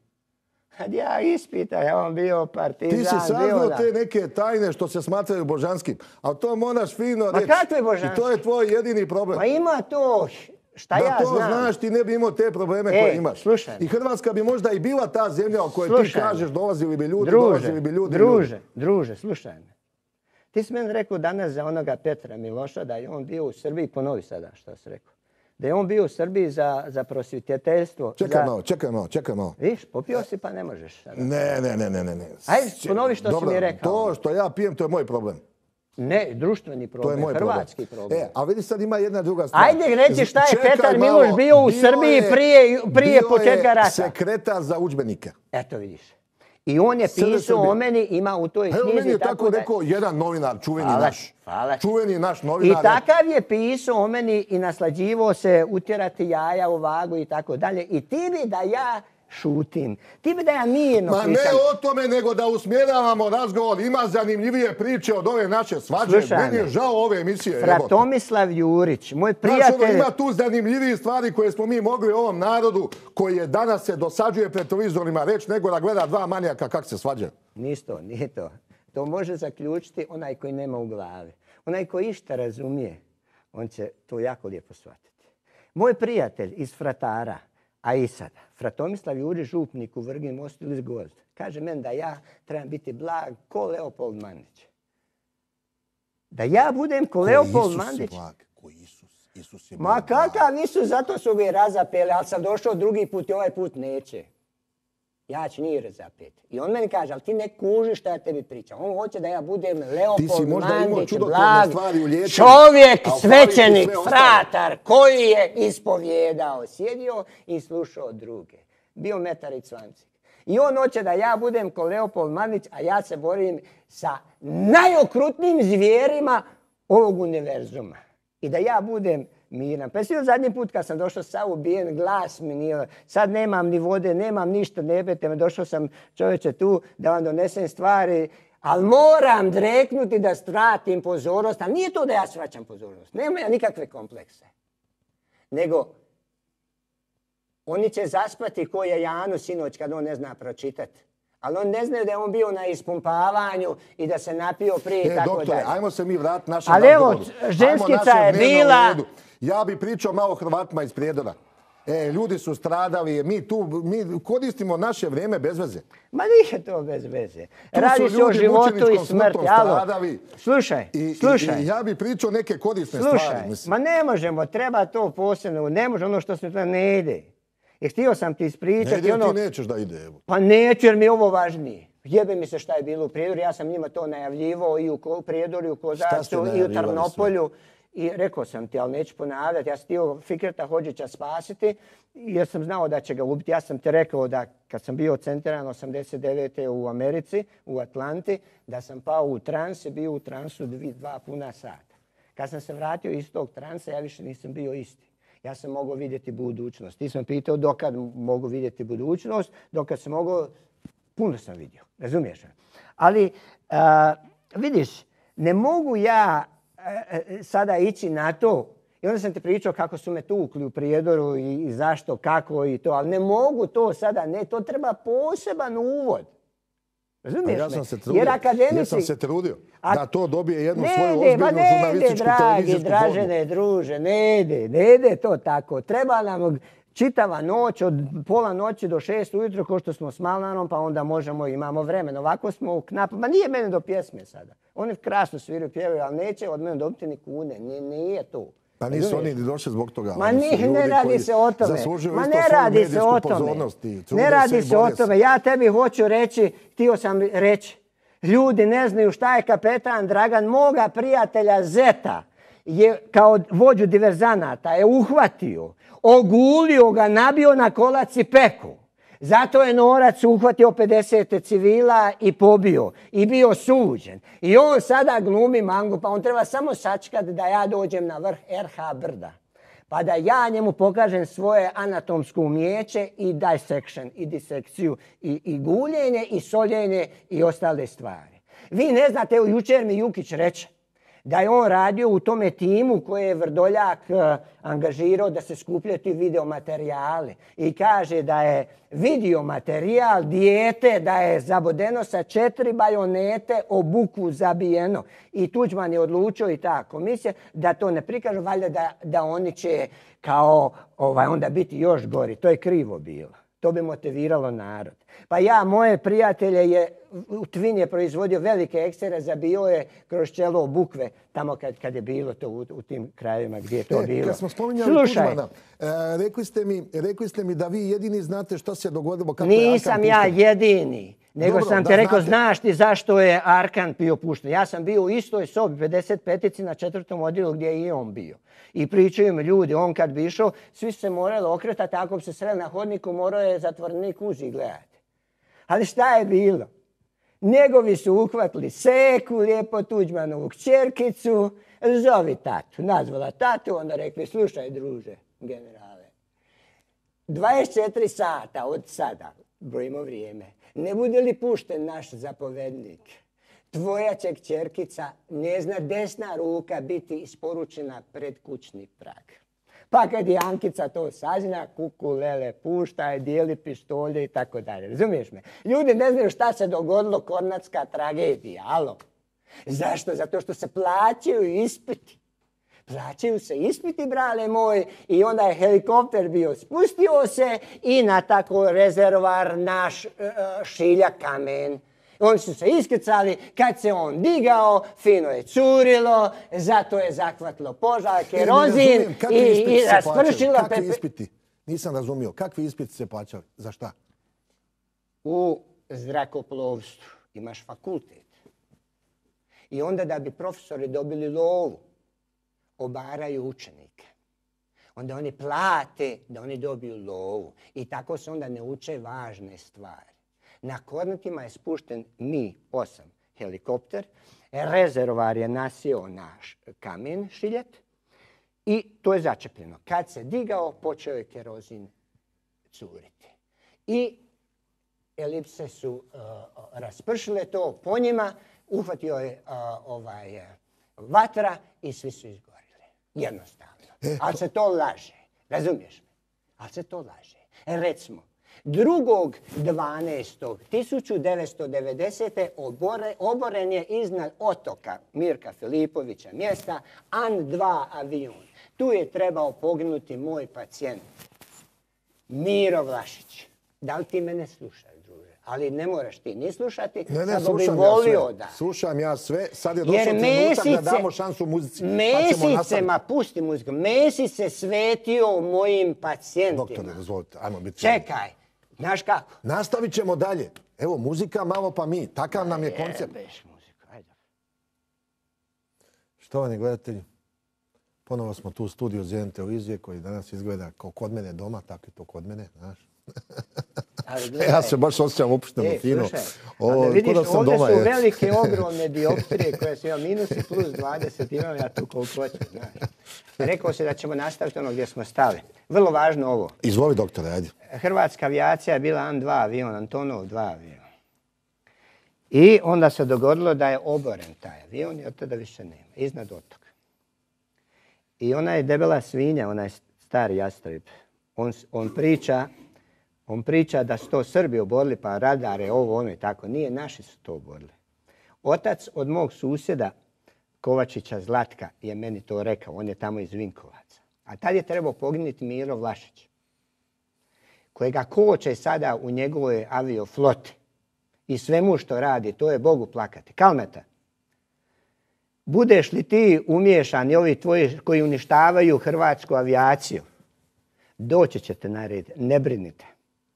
Kad ja ispitam, ja vam bio partizan, Ti si saznao bio da... te neke tajne što se smatraju božanskim. Ali to moraš fino Ma reći. kakve božanske? I to je tvoj jedini problem. Pa ima to, šta Da ja to znam. znaš, ti ne bi imao te probleme Ej, koje imaš. slušaj. I Hrvatska bi možda i bila ta zemlja o kojoj ti Slušaj me. kažeš dolazili bi ljudi, Druže, dolazili bi ljudi. druže, ljudi. druže, slušaj me. Ti si meni rekao danas za onoga Petra Miloša da je on bio u Srbiji, ponovi sada što si rekao. Da je on bio u Srbiji za, za prosvjetiteljstvo. Čekaj za... malo, čekaj malo, čekaj malo. Viš, popio si pa ne možeš sada. Ne, ne, ne, ne, ne. ne. Ajde, ponovi što si Dobro, mi rekao. To što ja pijem, to je moj problem. Ne, društveni To je problem, moj hrvatski problem. problem. E, a vidi sad ima jedna druga stvar. Ajde reći šta je Čekaj Petar malo, Miloš bio u bio Srbiji je- prije, prije bio početka je rata. sekretar za udžbenike. Eto vidiš. I on je Srce pisao Srbije. o meni, ima u toj Pa evo knjizi meni je tako da... rekao jedan novinar, čuveni Hvala naš. ti, hvala ti. Čuveni naš I novinar. takav je pisao o meni i naslađivo se utjerati jaja u vagu i tako dalje. I ti bi da ja šutim. Ti bi da ja mirno Ma ne pričam. o tome, nego da usmjeravamo razgovor. Ima zanimljivije priče od ove naše svađe. Slušaj Meni je me. žao ove emisije. jebote. Fratomislav Jurić, moj Znaš, ono, prijatelj... ima tu zanimljivije stvari koje smo mi mogli ovom narodu koji je danas se dosađuje pred televizorima reći nego da gleda dva manijaka kako se svađaju. Nis to, nije to. To može zaključiti onaj koji nema u glavi. Onaj koji išta razumije, on će to jako lijepo shvatiti. Moj prijatelj iz Fratara, a i sada, Fratomislav Jurić, župnik u Vrgin mostu ili Gvozd, kaže meni da ja trebam biti blag ko Leopold Mandić. Da ja budem ko Leopold Mandić. Ko Isus. Isus je Ma bio kakav Isus, zato su ga i razapeli, ali sam došao drugi put i ovaj put neće. Ja ću njih razapeti. I on meni kaže, ali ti ne kužiš šta ja tebi pričam. On hoće da ja budem Ti si Leopold možda imao Mandić, čudotvorne blag, stvari u liječenju, čovjek, a u svećenik, Pavliku sve fratar, koji je ispovjedao, sjedio i slušao druge. Bio metar i cvancik. I on hoće da ja budem ko Leopold Mandić, a ja se borim sa najokrutnijim zvijerima ovog univerzuma. I da ja budem miran. Pa jesi zadnji put kad sam došao sa ubijen, glas mi nije, sad nemam ni vode, nemam ništa, ne bete me, došao sam čovječe tu da vam donesem stvari, ali moram dreknuti da stratim pozornost, ali nije to da ja svraćam pozornost, nema ja nikakve komplekse. Nego, oni će zaspati ko je Janu sinoć kad on ne zna pročitati. Ali on ne znaju da je on bio na ispumpavanju i da se napio prije i e, tako doktore, dalje. ajmo se mi vratiti našem Ali evo, razgovoru. ženskica Ajmo je naše vreme bila... u redu. Ja bi pričao malo o Hrvatima iz Prijedora. E, ljudi su stradali, mi tu mi koristimo naše vrijeme bez veze. Ma nije to bez veze. Radi se o životu i smrti. Alo, slušaj, I, slušaj. I, i ja bi pričao neke korisne slušaj, stvari. Mislim. Ma ne možemo, treba to posebno, ne može ono što se to ne ide. I htio sam ti ispričati. Ne ide, ono... ti nećeš da ide. Evo. Pa neću jer mi je ovo važnije. Jebe mi se šta je bilo u Prijedoru, ja sam njima to najavljivao i u Prijedoru, i u Kozarcu, i u Trnopolju. I rekao sam ti, ali neću ponavljati, ja sam htio Fikreta Hodžića spasiti jer sam znao da će ga ubiti. Ja sam ti rekao da kad sam bio centiran osamdeset devete u Americi, u Atlanti, da sam pao u trans i bio u transu dva puna sata. Kad sam se vratio iz tog transa, ja više nisam bio isti. Ja sam mogao vidjeti budućnost. Ti sam pitao dokad mogu vidjeti budućnost, dokad sam mogao, puno sam vidio, razumiješ? Ali, a, vidiš, ne mogu ja sada ići na to. I onda sam ti pričao kako su me tukli u Prijedoru i, i zašto, kako i to. Ali ne mogu to sada, ne, to treba poseban uvod. Razumiješ ja me? sam se trudio, Jer akademici... ja sam se trudio A... da to dobije jednu ne svoju ide, ozbiljnu ne žurnalističku ide, dragi, televizijsku dražene, formu. druže, ne ide, ne ide to tako. Treba nam čitava noć, od pola noći do šest ujutro, ko što smo s Malnarom, pa onda možemo, imamo vremena. Ovako smo u knapu, ma nije mene do pjesme sada. Oni krasno sviraju, pjevaju, ali neće od mene dobiti ni kune, nije, nije to. Pa nisu oni ni došli zbog toga. Ma ni, ne radi se o tome. Ma ne radi se o tome. Ne radi se o tome. Ja tebi hoću reći, htio sam reći, ljudi ne znaju šta je kapetan Dragan, moga prijatelja Zeta, je kao vođu diverzanata, je uhvatio, ogulio ga, nabio na kolac i peku. Zato je Norac uhvatio pedeset civila i pobio i bio suđen. I on sada glumi mangu, pa on treba samo sačekati da ja dođem na vrh er ha brda. Pa da ja njemu pokažem svoje anatomsko umijeće i dissection, i disekciju, i, i guljenje, i soljenje, i ostale stvari. Vi ne znate, evo jučer mi Jukić reče da je on radio u tome timu koje je Vrdoljak uh, angažirao da se skupljaju ti videomaterijali. I kaže da je videomaterijal dijete da je zabodeno sa četiri bajonete, obuku zabijeno. I Tuđman je odlučio i ta komisija da to ne prikažu, valjda da, da oni će kao ovaj, onda biti još gori. To je krivo bilo. To bi motiviralo narod. Pa ja, moje prijatelje, je, Tvin je proizvodio velike ekstere, zabio je kroz čelo bukve, tamo kad, kad je bilo to u, u tim krajevima gdje je to e, bilo. Kad smo spominjali Slušaj, Tuđmana, e, rekli, ste mi, rekli ste mi da vi jedini znate što se dogodilo kako nisam je Arkan ja jedini. Nego Dobro, sam da ti rekao, znate. znaš ti zašto je Arkan bio pušten. Ja sam bio u istoj sobi, pedeset petici na četvrtom odjelu gdje je i on bio. I pričaju mi ljudi, on kad bi išao, svi su se morali okretati, ako bi se sreli na hodniku, morao je zatvornik uži gledati. Ali šta je bilo? Njegovi su uhvatili Seku, lijepo Tuđmanovu kćerkicu, zovi tatu. Nazvala tatu, onda rekli, slušaj druže, generale, dvadeset četiri sata od sada, brojimo vrijeme, ne bude li pušten naš zapovednik, tvoja će kćerkica, njezina desna ruka biti isporučena pred kućni prag. Pa kad je Ankica to sazna, kuku, lele, pušta je, dijeli pištolje i tako dalje. Razumiješ me? Ljudi ne znaju šta se dogodilo, kornatska tragedija, alo. Zašto? Zato što se plaćaju ispiti. Plaćaju se ispiti, brale moj, i onda je helikopter bio, spustio se i na tako rezervar naš uh, Šilja kamen. Oni su se iskrcali, kad se on digao, fino je curilo, zato je zakvatilo požar, kerozin i, i raspršilo. Kakvi ispiti? Nisam razumio. Kakvi ispiti se plaćali? Za šta? U zrakoplovstvu imaš fakultet. I onda da bi profesori dobili lovu, obaraju učenike. Onda oni plate da oni dobiju lovu. I tako se onda ne uče važne stvari. Na Kornatima je spušten Mi osam helikopter, rezervoar je nasio naš kamen Šiljet, I to je začepljeno. Kad se digao, počeo je kerozin curiti. I elipse su uh, raspršile to po njima, uhvatio je uh, ovaj, uh, vatra i svi su izgorili. Jednostavno. E, Ali se to laže. Razumiješ me? Ali se to laže. E, recimo, drugog dvanaestog tisuću devetsto devedesete. Obore, oboren je iznad otoka Mirka Filipovića mjesta An dva avion. Tu je trebao poginuti moj pacijent Miro Vlašić. Da li ti mene slušaš, druže? Ali ne moraš ti ni slušati. Ne, ne, Samo slušam bi ja volio sve. da. Slušam ja sve. Sad je došao Jer trenutak Mesice, da damo šansu muzici. Mesice, ma pusti muziku, Mesić se svetio mojim pacijentima. Doktore, dozvolite, ajmo biti. Čekaj, znaš kako? Nastavit ćemo dalje. Evo, muzika malo pa mi. Takav nam je koncept. Jebeš muziku, ajde. Štovani gledatelji, ponovo smo tu u studiju Zelen televizije koji danas izgleda kao kod mene doma, tako i to kod mene, znaš. Ali gledaj, Ja se baš osjećam opušteno, e, fino. slušaj, Ovo, a da vidiš, ko da sam ovdje doma, su je. velike, ogromne dioptrije koje su imali minus i plus dvadeset, imam ja tu koliko hoću, znaš. Rekao se da ćemo nastaviti ono gdje smo stali. Vrlo važno ovo. Izvoli, doktore, ajde. Hrvatska avijacija je bila An dva avion, Antonov dva avion. I onda se dogodilo da je oboren taj avion i od tada više nema, iznad otoka. I ona je debela svinja, onaj stari jastreb. On, on priča On priča da su to Srbi oborili, pa radare, ovo, ono i tako. Nije, naši su to oborili. Otac od mog susjeda, Kovačića Zlatka, je meni to rekao. On je tamo iz Vinkovaca. A tad je trebao poginuti Miro Vlašić, kojega koče sada u njegovoj aviofloti. I svemu što radi, to je Bogu plakati. Kalmeta, budeš li ti umiješan i ovi tvoji koji uništavaju hrvatsku avijaciju, doći ćete na red, ne brinite.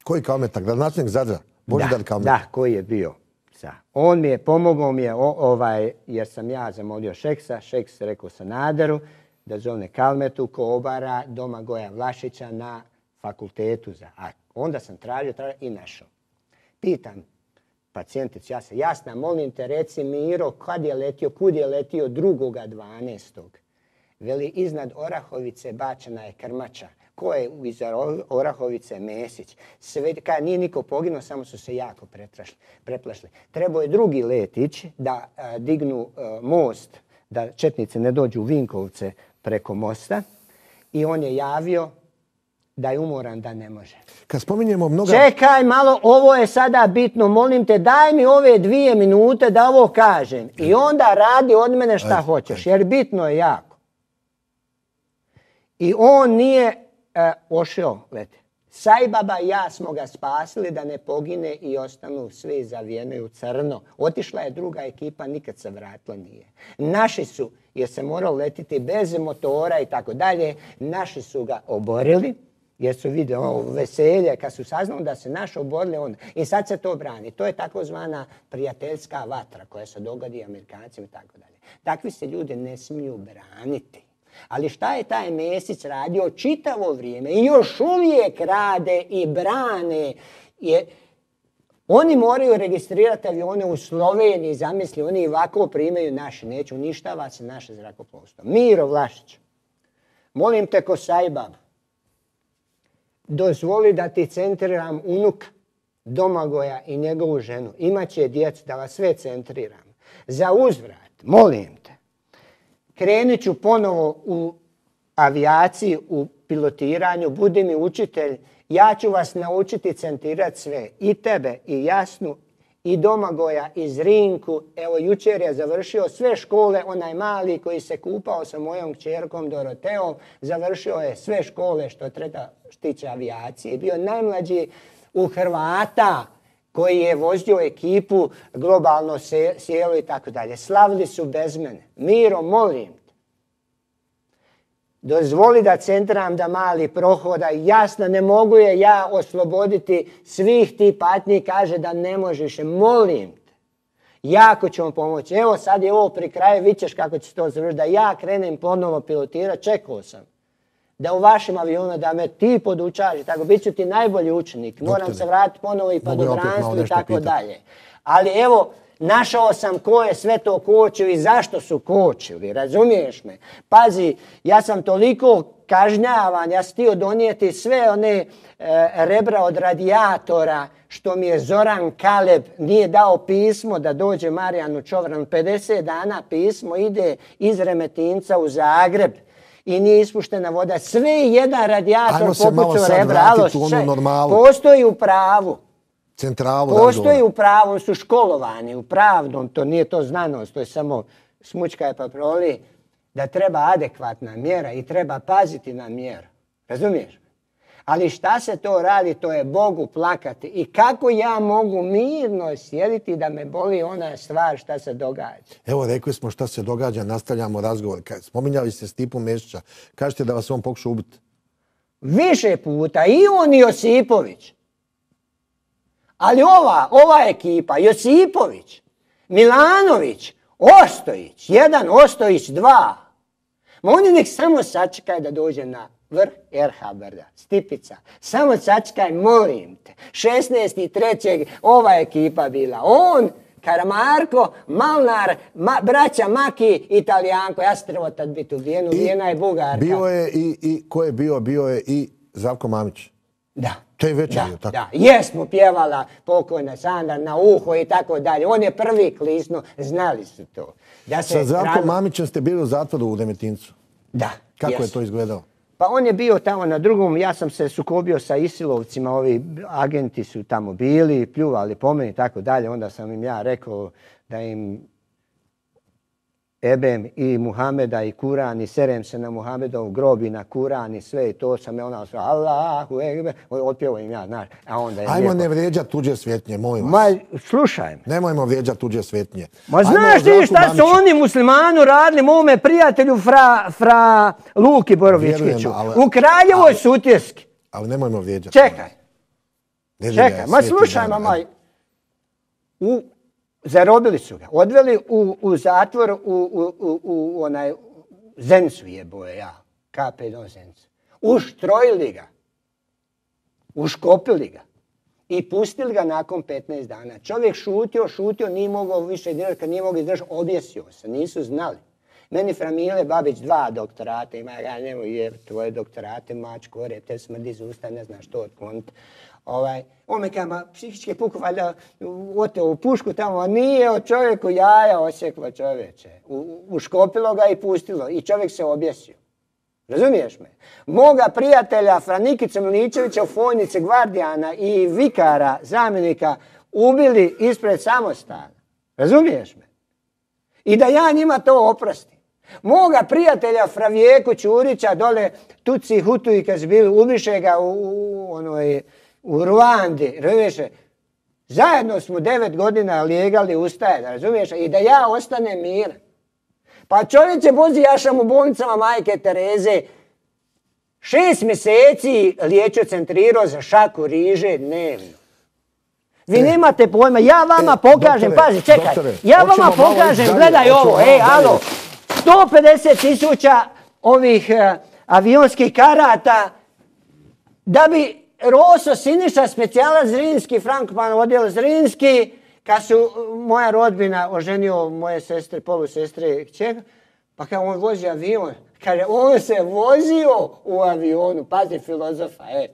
Koji Kalmeta? Gradonačelnik Zadra? Božidar Kalmeta? Da, koji je bio. Sa. On mi je, pomogao mi je, o, ovaj, jer sam ja zamolio Šeksa, Šeks rekao Sanaderu da zovne Kalmetu ko obara Domagoja Vlašića na fakultetu za A. Onda sam tražio, tražio i našao. Pitam pacijenticu, ja se jasna, molim te, reci Miro, kad je letio, kud je letio drugoga dvanaestog. Veli, iznad Orahovice bačena je krmača. Ko je iza Orahovice? Mesić. Sve, kad nije niko poginuo, samo su se jako preplašili. Trebao je drugi let ići da a, dignu a, most, da četnici ne dođu u Vinkovce preko mosta. I on je javio da je umoran, da ne može. Kad spominjemo mnoga... Čekaj malo, ovo je sada bitno, molim te, daj mi ove dvije minute da ovo kažem. I onda radi od mene šta ajde, hoćeš, jer bitno je jako. I on nije e, ošao lete. Sajbaba i ja smo ga spasili da ne pogine i ostanu svi zavijeni u crno. Otišla je druga ekipa, nikad se vratila nije. Naši su, jer se moralo letiti bez motora i tako dalje, naši su ga oborili, jer su vidjeli ovo veselje, kad su saznali da se naši oborili onda. I sad se to brani. To je takozvana prijateljska vatra koja se dogodi Amerikancima i tako dalje. Takvi se ljudi ne smiju braniti. Ali šta je taj Mesić radio čitavo vrijeme i još uvijek rade i brane. Je, oni moraju registrirati avione u Sloveniji, zamisli, oni ovako primaju naše, neće uništava se naše zrakoplovstvo. Miro Vlašić, molim te ko Sajbab, dozvoli da ti centriram unuka Domagoja i njegovu ženu. Imaće djecu, da vas sve centriram. Za uzvrat, molim te, krenit ću ponovo u avijaciji, u pilotiranju, budi mi učitelj, ja ću vas naučiti centrirati sve. I tebe, i Jasnu, i Domagoja, i Zrinku. Evo, jučer je završio sve škole, onaj mali koji se kupao sa mojom kćerkom Doroteom, završio je sve škole što treba štiće avijacije. Bio najmlađi u Hrvata koji je vozio ekipu, globalno sjelo i tako dalje. Slavili su bez mene. Miro, molim te, dozvoli da centram da mali prohoda. Jasno, ne mogu je ja osloboditi svih ti patnji, kaže da ne možeš. Molim te, jako ću vam pomoći. Evo sad je ovo pri kraju, vidit ćeš kako će to završiti. Da ja krenem ponovo pilotirati, čekao sam. Da u vašem avionu, da me ti podučaš, tako, bit ću ti najbolji učenik. Moram Doktore, se vratiti ponovo i padobranstvo i tako pitati. Dalje. Ali evo, Našao sam ko je sve to kočio i zašto su kočili, razumiješ me? Pazi, ja sam toliko kažnjavan, ja sam htio donijeti sve one e, rebra od radijatora što mi je Zoran Kaleb nije dao pismo da dođe Marijanu Čovranu. pedeset dana pismo ide iz Remetinca u Zagreb i nije ispuštena voda. Sve jedan radijator popucao rebra. Alo, postoji u pravu. Centralu Postoji razgovora. u pravu, su školovani u pravnom, to nije to znanost, to je samo smučka i paproli, da treba adekvatna mjera i treba paziti na mjeru. Razumiješ? Ali šta se to radi, to je Bogu plakati. I kako ja mogu mirno sjediti da me boli ona stvar šta se događa? Evo, rekli smo šta se događa, nastavljamo razgovor. Spominjali ste Stipu Mesića. Kažete da vas on pokušao ubiti. Više puta, i on i Josipović. Ali ova, ova ekipa, Josipović, Milanović, Ostojić, jedan, Ostojić, dva. Ma oni nek samo sačekaj da dođe na vrh er ha brda, Stipica. Samo sačekaj, molim te. šesnaestog trećeg ova ekipa bila. On, Karamarko, Malnar, ma, braća Maki, Italijanko. Ja sam trebao tad biti ubijen, ubijena je Bugarka. Bio je i, i, ko je bio, bio je i Zdravko Mamić. Da. To je večer, da, tako? Da, jesmo pjevala pokojna Sandra na uho i tako dalje. On je prvi klisnuo, znali su to. Da se Sa Zdravkom rano... Mamićem ste bili u zatvoru u Remetincu. Da. Kako jesmo. je to izgledalo? Pa on je bio tamo na drugom, ja sam se sukobio sa Isilovcima, ovi agenti su tamo bili, pljuvali po meni i tako dalje. Onda sam im ja rekao da im ebem i Muhameda i Kuran i serem se na Muhamedov grob i na Kuran i sve i to sam je ona sve Allahu ekber, otpjevao im ja, znaš. A onda je Ajmo lijepo. ne vrijeđati tuđe svetnje, molim vas. Ma, slušaj me. Nemojmo vrijeđati tuđe svetnje. Ma znaš ti šta su oni muslimanu radili mome prijatelju fra, fra Luki Borovičkiću u Kraljevoj Sutjeski. Ali nemojmo vrijeđati. Čekaj. Čekaj, ma slušaj mama. U, zarobili su ga. Odveli u, u zatvor u, u, u, u onaj Zencu jeboje ja. ka pe do Zencu. Uštrojili ga. Uškopili ga. I pustili ga nakon petnaest dana. Čovjek šutio, šutio, nije mogao više dirati, kad nije mogao izdržati, objesio se, nisu znali. Meni Framile Babić dva doktorata ima, ja nemoj je tvoje doktorate, mačko, rep, te smrdi iz usta, ne znaš što otkloniti. Ovaj, on me kama, psihički puk, valjda, oteo u pušku tamo, a nije od čovjeku jaja osjeklo čovječe. U, uškopilo ga i pustilo i čovjek se objesio. Razumiješ me? Moga prijatelja Franikića Miličevića u Fojnici Gvardijana i vikara, zamjenika, ubili ispred samostana. Razumiješ me? I da ja njima to oprostim. Moga prijatelja Fravijeku Ćurića dole Tuci Hutu i kad su bili, ubiše ga u, u, onoj, u Ruandi. Razumiješ? Zajedno smo devet godina lijegali ustaje, razumiješ? I da ja ostanem miran. Pa čovjek će vozi jašam u bolnicama Majke Tereze. Šest mjeseci liječio centrirao za šaku riže dnevno. Vi e, nemate pojma, ja vama e, pokažem, doktore, pazi, čekaj, doktore, ja vama pokažem, dalje, gledaj ovo, ej, alo, sto pedeset tisuća ovih uh, avionskih karata da bi Roso Siniša, specijalac Zrinski, Frankman odjel Zrinski, kad su moja rodbina oženio moje sestre, polusestre, kćer, pa kad on vozi avion, kaže, on se vozio u avionu, pazi filozofa, e.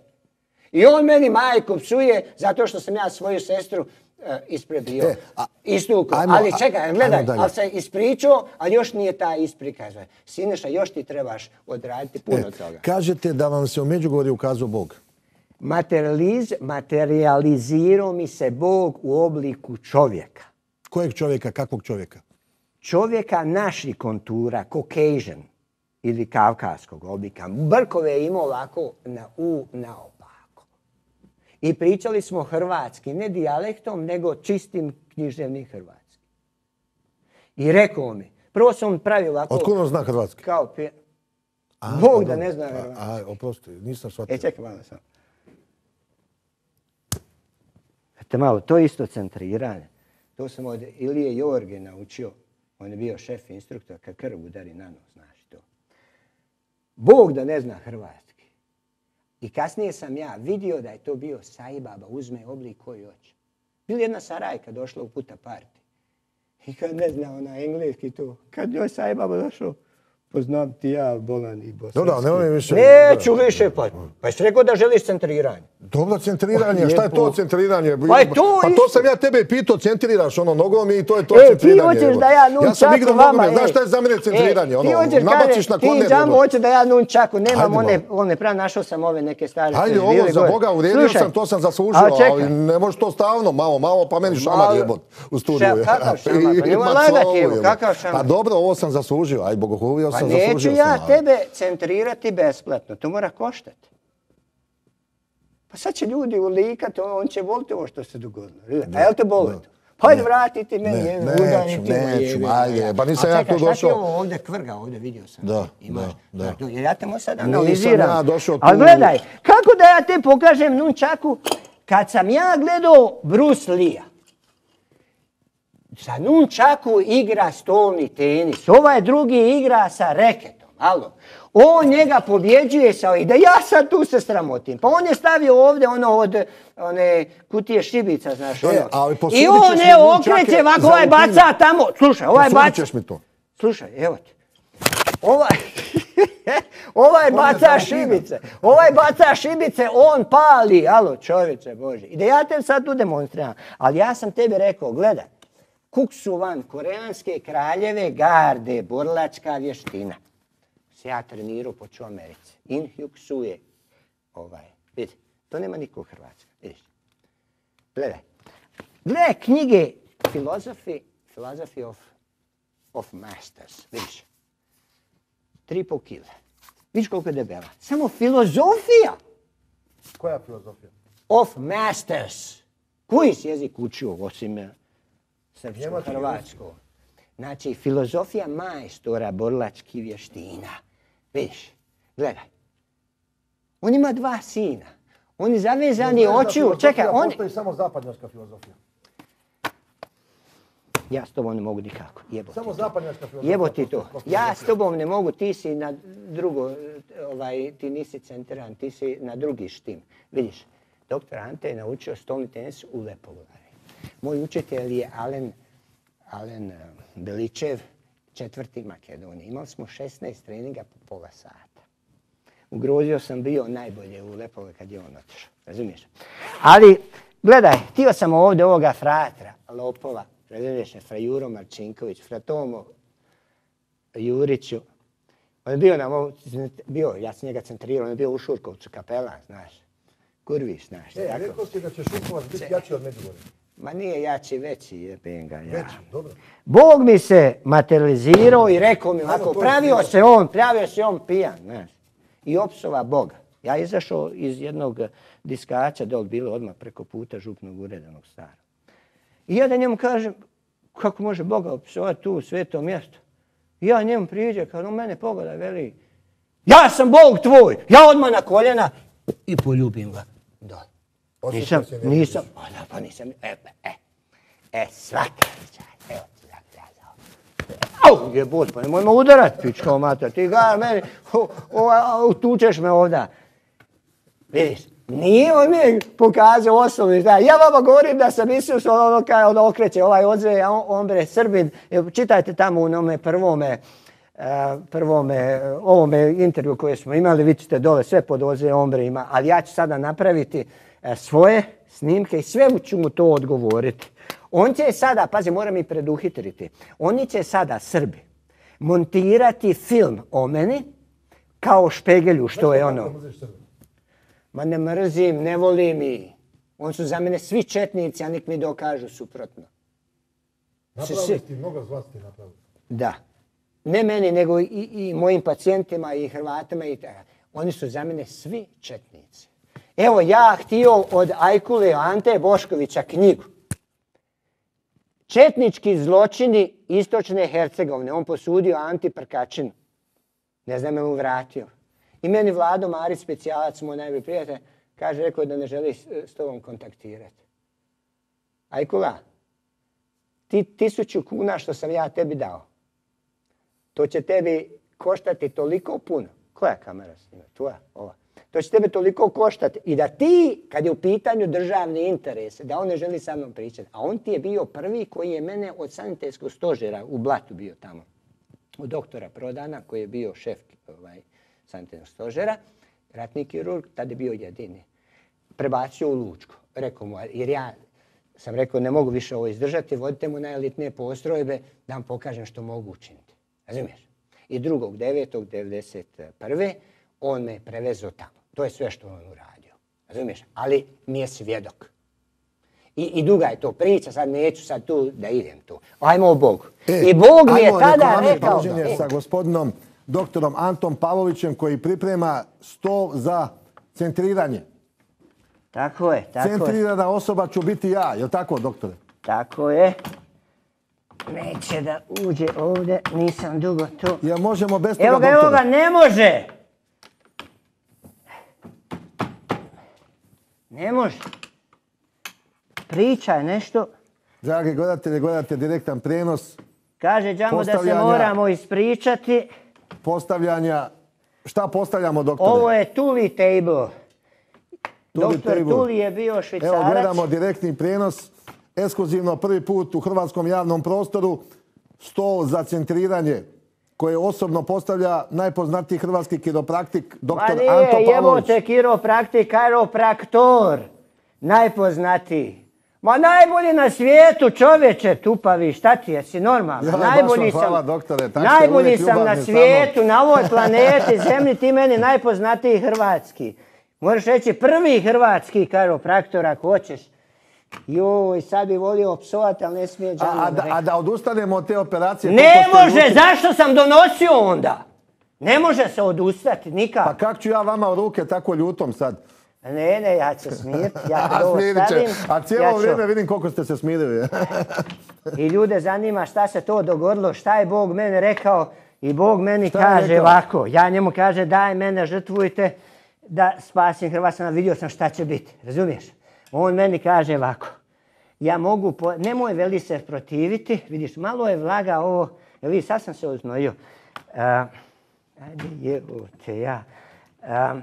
I on meni majku psuje zato što sam ja svoju sestru e, isprebio, e, istukao. Ali čekaj, gledaj, ali se ispričao, ali još nije ta isprika. Sineša, još ti trebaš odraditi puno e, toga. Kažete da vam se u Međugorju ukazao Bog. Materializ, materializirao mi se Bog u obliku čovjeka. Kojeg čovjeka, kakvog čovjeka? Čovjeka naših kontura, Caucasian ili kavkaskog oblika. Brkove je imao ovako na u, na opako. I pričali smo hrvatski, ne dijalektom, nego čistim književnim hrvatski. I rekao mi, prvo sam pravio ovako... Otkud on zna hrvatski? Kao pije... Bog da ne zna hrvatski. A, a oprosti, nisam shvatio. E, čekaj malo sam. Te malo, to je isto centriranje. To sam od Ilije Jorge naučio. On je bio šef instruktor, kad krv udari na nos, znaš to. Bog da ne zna hrvatski. I kasnije sam ja vidio da je to bio Sajbaba, uzme oblik koji hoće. Bila jedna Sarajka došla u puta parti. I kad ne zna ona engleski to. Kad joj sajbaba došao, poznam ti ja bolan i bosanski. Dobro, nemoj više. Neću više, pa. Pa jesi rekao da želiš centriranje. Dobro, centriranje, šta je to centriranje? Pa je to Pa isto. to sam ja tebe pitao, centriraš ono nogom i to je to E, ti centriranje. hoćeš da ja Ja sam igrao nunčaku vama, nogomet, znaš e. šta je za mene centriranje? E, ti Ono, hoćeš nabaciš kaže, na ti korner. džambo ono. hoće da ja nunčaku, nemam Ajde, one, malo. one prav, našao sam ove neke stvari. Ajde, koje su ovo bile za gore. Boga, uredio Slušaj, sam, to sam zaslužio, ali čekaj. ali ne možeš to stalno, malo, malo, pa meni šamar Malo- jebot u studiju. Šta, kakav šamar? Pa I- nemoj ma lagati, slovo, evo, jebote. kakav šamar? Pa dobro, ovo sam zaslužio, aj bogohulio Pa sam, neću zaslužio ja sam. ali- tebe centrirati besplatno, to mora koštati. Pa sad će ljudi ulikati, on će voliti ovo što se dogodilo. A jel te boli to? Pa ajde vratiti meni, Ne, jedno, neću, udariti mu, neću, jebe, ajde, ja. pa nisam A ja čekaj, tu šta ti došao. ovo ovdje kvrga, ovdje vidio sam. Da, Imaš, da, da. znaš, jer ja te mu sad Nisam analiziram. ja došao tu- Ali gledaj, kako da ja te pokažem nunčaku, kad sam ja gledao Bruce Lee-a, sa nunčaku igra stolni tenis, ovaj drugi igra sa reketom, alo. On njega pobjeđuje sa i da ja sad tu se sramotim. Pa on je stavio ovdje ono od one kutije šibica, znaš, E, ono. ali posudit I ćeš on mi je nunčake okreće ovako, za ovaj Alpine. baca tamo. Slušaj, ovaj Posudit baca. ćeš mi to. Slušaj, evo ti. Ovaj, ovaj baca za šibice. Ovaj baca šibice, on pali. Alo, čovječe Bože. I da ja te sad tu demonstriram. Ali ja sam tebi rekao, gledaj. Kuksuvan, koreanske kraljeve garde, borilačka vještina. Se ja trenirao poču Americi. In Hyuk Sue. Ovaj, vidi, to nema niko u Hrvatskoj. Vidiš. Gledaj. Gledaj knjige Philosophy, Philosophy of, of Masters. Vidiš. Tri i pol kile. Vidiš koliko je debela. Samo filozofija Koja filozofija? of Masters. Koji si jezik učio osim eh, srpsko, Njemački, hrvatsko? Znači, filozofija majstora borilačkih vještina. Vidiš, gledaj. On ima dva sina. Oni zavezani očiju. Čekaj, on... Postoji samo zapadnjačka filozofija. Ja s tobom ne mogu nikako. Jebo Samo ti to. zapadnjačka filozofija. Jebo ti to. postoji. Ja s tobom ne mogu, ti si na drugo, ovaj, ti nisi centran, ti si na drugi štim. Vidiš, doktor Ante je naučio stolni tenis u Lepoglavi. Moj učitelj je Alen, Alen eh, Beličev, četvrti Makedonije. Imali smo šesnaest treninga po pola sata. Ugrozio sam bio najbolje u Lepoglavi kad je on otišao. Razumiješ? Ali, gledaj, htio sam ovdje ovoga fratra, lopova, razumiješ, fra Juro Marčinković, fra Tomo Juriću. On je bio na mom, bio, ja sam njega centrirao, on je bio u Šurkovcu, kapelan, znaš. Kurviš, znaš. E, tako. rekao si da će Šurkovac biti jači od Međugorja. Ma nije jači, veći je penga. Ja. Veći, dobro. Bog mi se materializirao i rekao mi ovako, to je pravio sigurno. se on, pravio se on pijan, znaš. I opsova Boga. Ja izašao iz jednog diskača, dol bilo odmah preko puta župnog ureda onog starog. I ja da njemu kažem, kako može Boga opsovati tu u svetom mjestu? I ja njemu priđe, kad on mene pogleda, veli, ja sam Bog tvoj, ja odmah na koljena i poljubim ga. Da. Osjećao Nisam, si energiju. nisam, pa da, pa nisam, e, e, e, svaka čast, evo ti da plazao. Au, jebot, pa nemoj me udarat, pičko mater, ti ga meni, o, o, tučeš me ovda. Vidiš, nije on mi pokazao osnovni znak. Ja vama govorim da sam Isus, ono kaj on okreće, ovaj odzve, a on, on bre, Srbin, čitajte tamo u onome prvome, Uh, prvome, uh, ovome intervju koje smo imali, vi ćete dole sve pod Oze Ombre ima, ali ja ću sada napraviti uh, svoje snimke i sve ću mu to odgovoriti. On će sada, pazi, moram i preduhitriti, oni će sada, Srbi, montirati film o meni kao Špegelju, što je ono. Ma ne mrzim, ne volim i. On su za mene svi četnici, a nek mi dokažu suprotno. Napravili ti mnogo zla ste napravili. Da. Ne meni, nego i, i mojim pacijentima i Hrvatima. I oni su za mene svi četnici. Evo, ja htio od Ajkule Ante Boškovića knjigu. Četnički zločini istočne Hercegovine. On posudio Anti Prkačinu. Ne znam je mu vratio. I meni Vlado Marić, specijalac, moj najbolji prijatelj, kaže, rekao da ne želi s tobom kontaktirati. Ajkula, ti tisuću kuna što sam ja tebi dao, to će tebi koštati toliko puno. Koja kamera snima? Tvoja? Ova. To će tebe toliko koštati. I da ti, kad je u pitanju državni interes, da on ne želi sa mnom pričati. A on ti je bio prvi koji je mene od sanitetskog stožera u Blatu bio tamo. Od doktora Prodana, koji je bio šef ovaj, sanitetskog stožera, ratni kirurg, tada je bio jedini. Prebacio u Lučko. Rekao mu, jer ja sam rekao, ne mogu više ovo izdržati, vodite mu na elitne postrojbe da vam pokažem što mogu učiniti. Razumiješ? I drugog devetog devedeset prve on me prevezao tamo. To je sve što on uradio. Razumiješ? Ali mi je svjedok. I, I duga je to priča, sad neću sad tu da idem tu. Ajmo o Bogu. E, I Bog mi je tada ajmo rekao... Da, sa gospodinom doktorom Antom Pavlovićem koji priprema stol za centriranje. Tako je, tako je. Centrirana osoba ću biti ja, je li tako, doktore? Tako je. Neće da uđe ovdje, nisam dugo tu. Ja možemo bez toga, Evo ga, doktore. evo ga, ne može! Ne može. Priča je nešto. Dragi gledatelji, gledate direktan prijenos. Kaže Džambo da se moramo ispričati. Postavljanja. Šta postavljamo, doktore? Ovo je Tuli table. Tuli Doktor table. Tuli je bio Švicarac. Evo gledamo direktni prijenos. Ekskluzivno prvi put u hrvatskom javnom prostoru. Stol za centriranje koje osobno postavlja najpoznatiji hrvatski kiropraktik, doktor Ma nije, Anto Pavlović. jebote, kiropraktik, kairopraktor. Najpoznatiji. Ma najbolji na svijetu, čovječe, tupavi, šta ti je, si normalno. Ja, najbolji baš vam hvala, sam, doktore, tak ste najbolji uvijek sam na ljubazni svijetu, na ovoj planeti, zemlji, ti meni najpoznatiji hrvatski. Možeš reći prvi hrvatski kairopraktor ako hoćeš. Joj, sad bi volio psovati, ali ne smije Džambo. A, a, da, a da odustanemo od te operacije... Ne koliko ste može, ljuti- zašto sam donosio onda? Ne može se odustati, nikako. Pa kak ću ja vama u ruke tako ljutom sad? Ne, ne, ja ću se smiriti, ja A, kad ovo smirit će. stavim, A cijelo ja ću- vrijeme vidim koliko ste se smirili. I ljude zanima šta se to dogodilo, šta je Bog mene rekao i Bog meni Šta je kaže rekao? ovako, ja njemu kaže daj mene žrtvujte da spasim Hrvatsku, vidio sam šta će biti, razumiješ? On meni kaže ovako, ja mogu, po... nemoj veli se protiviti, vidiš, malo je vlaga ovo, ja vidiš, sad sam se oznojio. Uh, ajde jebote ja. Um,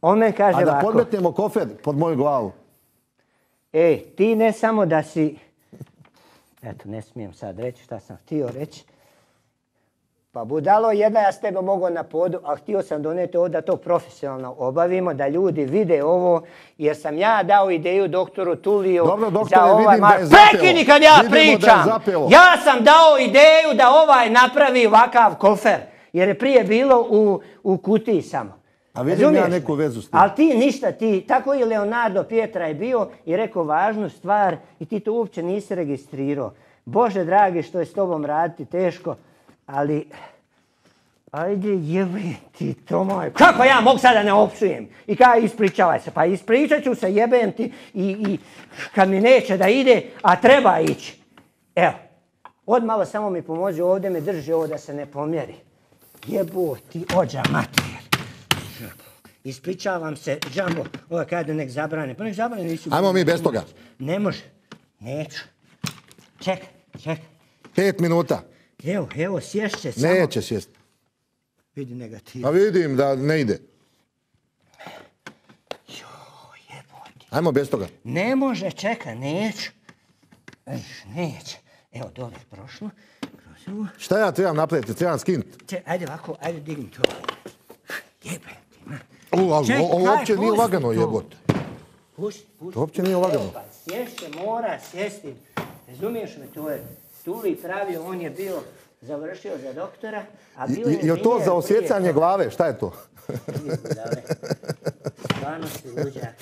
on meni kaže A da ovako. podmetnemo kofer pod moju glavu. Ej, ti ne samo da si... Eto, ne smijem sad reći šta sam htio reći. Pa budalo jedna, ja s tebe mogu na podu, a htio sam doneti ovdje da to profesionalno obavimo, da ljudi vide ovo, jer sam ja dao ideju doktoru Tuliju Dobro, doktore, za ovaj... vidim da je Ma, zapelo. prekini kad ja Vidimo da je pričam! zapelo. Ja sam dao ideju da ovaj napravi ovakav kofer, jer je prije bilo u, u kutiji samo. A vidim ja Razumiješ neku me? vezu s tim. Ali ti ništa, ti, tako i Leonardo Pietra je bio i rekao važnu stvar i ti to uopće nisi registrirao. Bože dragi, što je s tobom raditi teško, ali ajde jebi ti to moj. Kako ja mogu sada ne opsujem? I kaj ispričavaj se? Pa ispričat ću se, jebem ti i, i kad mi neće da ide, a treba ići. Evo, odmalo samo mi pomozi ovdje, me drži ovo da se ne pomjeri. Jebo ti ođa materijer. Ispričavam se, Džambo, ovo kada nek zabrane. Pa nek zabrane nisu... Ajmo mi bez toga. Ne može. Neću. Čekaj, čekaj. Pet minuta. Evo, evo, sješće samo. Neće sjest. Vidi negativ. A vidim da ne ide. Joj, jebote. Ajmo bez toga. Ne može, čekaj, neću. Eš, neće. Evo, dobro, prošlo. Kroz ovo. Šta ja trebam napraviti? Trebam skinuti. Če, ajde ovako, ajde digni to. Jebe ti, ma. U, ali Čekaj, ovo uopće nije pusti lagano, to. jebote. Pusti, pusti. To uopće nije lagano. Evo, pa sješće, mora sjesti. Razumiješ me, to je Tuli pravio, on je bio završio za doktora, a bio je Je li to inženjer za osjecanje prije toga. glave? Šta je to? Stvarno si luđak.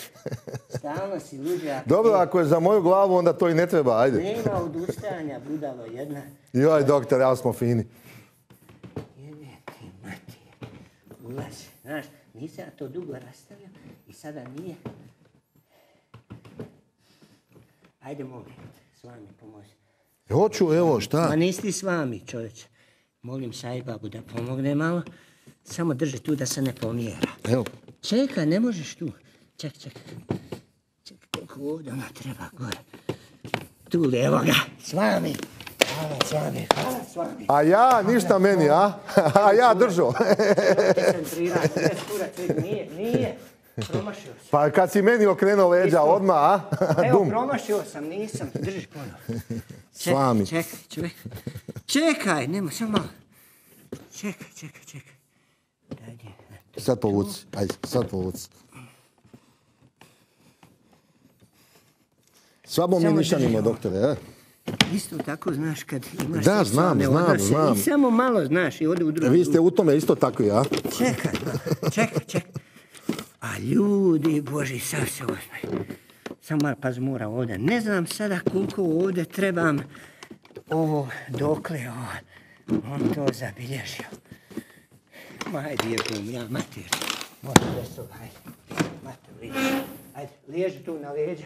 Stalno si luđak. Dobro, ako je za moju glavu, onda to i ne treba, ajde. Nema odustajanja, budalo jedna. Joj, doktor, ja smo fini. Jebe ti matije. Ulazi. Znaš, nisam ja to dugo rastavio i sada nije. Ajde, molim, s vami pomozi. Hoću, evo, šta? Ma nisi ti s vami, čovječe. Molim Sajbabu da pomogne malo. Samo drži tu da se ne pomjera. Evo. Čekaj, ne možeš tu. Čekaj, čekaj. Čekaj, kako ovdje ona treba gore. Tu, evo ga, s vami. Hvala s vami, hvala s vami. A ja, ništa meni, a? A ja držao. Centriranje, bez kurac, nije, nije. Promašio sam. Pa kad si meni okrenuo leđa Isto. odmah, a? Evo, Dum. promašio sam, nisam. Drži ponovo. Svami. Čekaj, čekaj, čekaj. Čekaj, nema, samo malo. Čekaj, čekaj, čekaj. Daj, daj. Sad povuci, ajde, sad povuci. Slabo mi Samo nišanimo, drži ovo. doktore, a? Isto tako, znaš, kad imaš Da, seksualne znam, znam, odnose znam. i samo malo, znaš, i ode u drugu. Vi ste u tome isto takvi, a? Čekaj, čekaj, čekaj. A ljudi Boži, sad se ozme. Samo malo pazmura ovdje. Ne znam sada koliko ovdje trebam ovo dokle ovo. On to zabilježio. Ma, ajde, jebum, ja, mater. Možda veso, ajde. Mater, liježi. Ajde, liježi tu na leđa.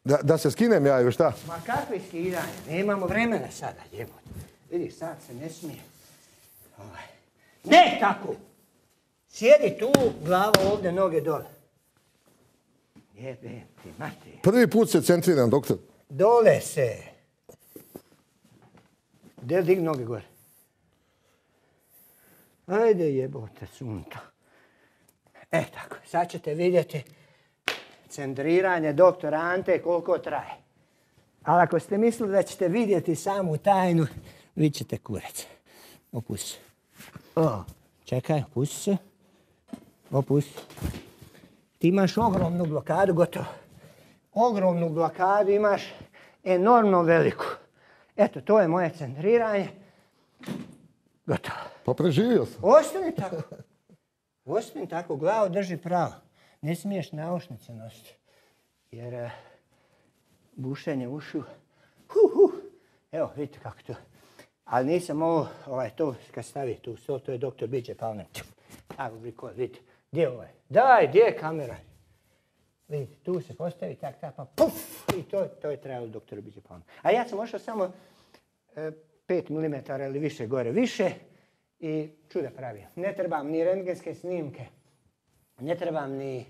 Da, da se skinem ja ili šta? Ma kakve skidanje? Nemamo vremena sada, jebote. Vidi, sad se ne smije. Ovaj. Ne tako! Sjedi tu, glava ovdje, noge dole. Jebem ti, mati. Prvi put se centriram, doktor. Dole se. Del dig noge gore. Ajde jebote sunta. E tako, sad ćete vidjeti centriranje doktora Ante koliko traje. Ali ako ste mislili da ćete vidjeti samu tajnu, vidjet ćete kurac. Opusti se. O, čekaj, opusti se. Opusti. Ti imaš ogromnu blokadu, gotovo. Ogromnu blokadu imaš, enormno veliku. Eto, to je moje centriranje. Gotovo. Pa preživio sam. Ostani tako. Ostani tako, glavu drži pravo. Ne smiješ naušnice nositi. Jer uh, bušenje ušiju. Huh, huh. Evo, vidite kako to. Ali nisam ovo, ovaj, to kad stavi tu sto, to je doktor Biđe Palmer. Evo, rekord, vidite. Gdje je ovaj? Daj, gdje je kamera? Vidite, tu se postavi, tak, tak, pa puf! I to, to je trebalo doktoru Biđe Palmer. A ja sam ošao samo e, pet milimetara ili više gore više i čuda pravio. Ne trebam ni rentgenske snimke, ne trebam ni,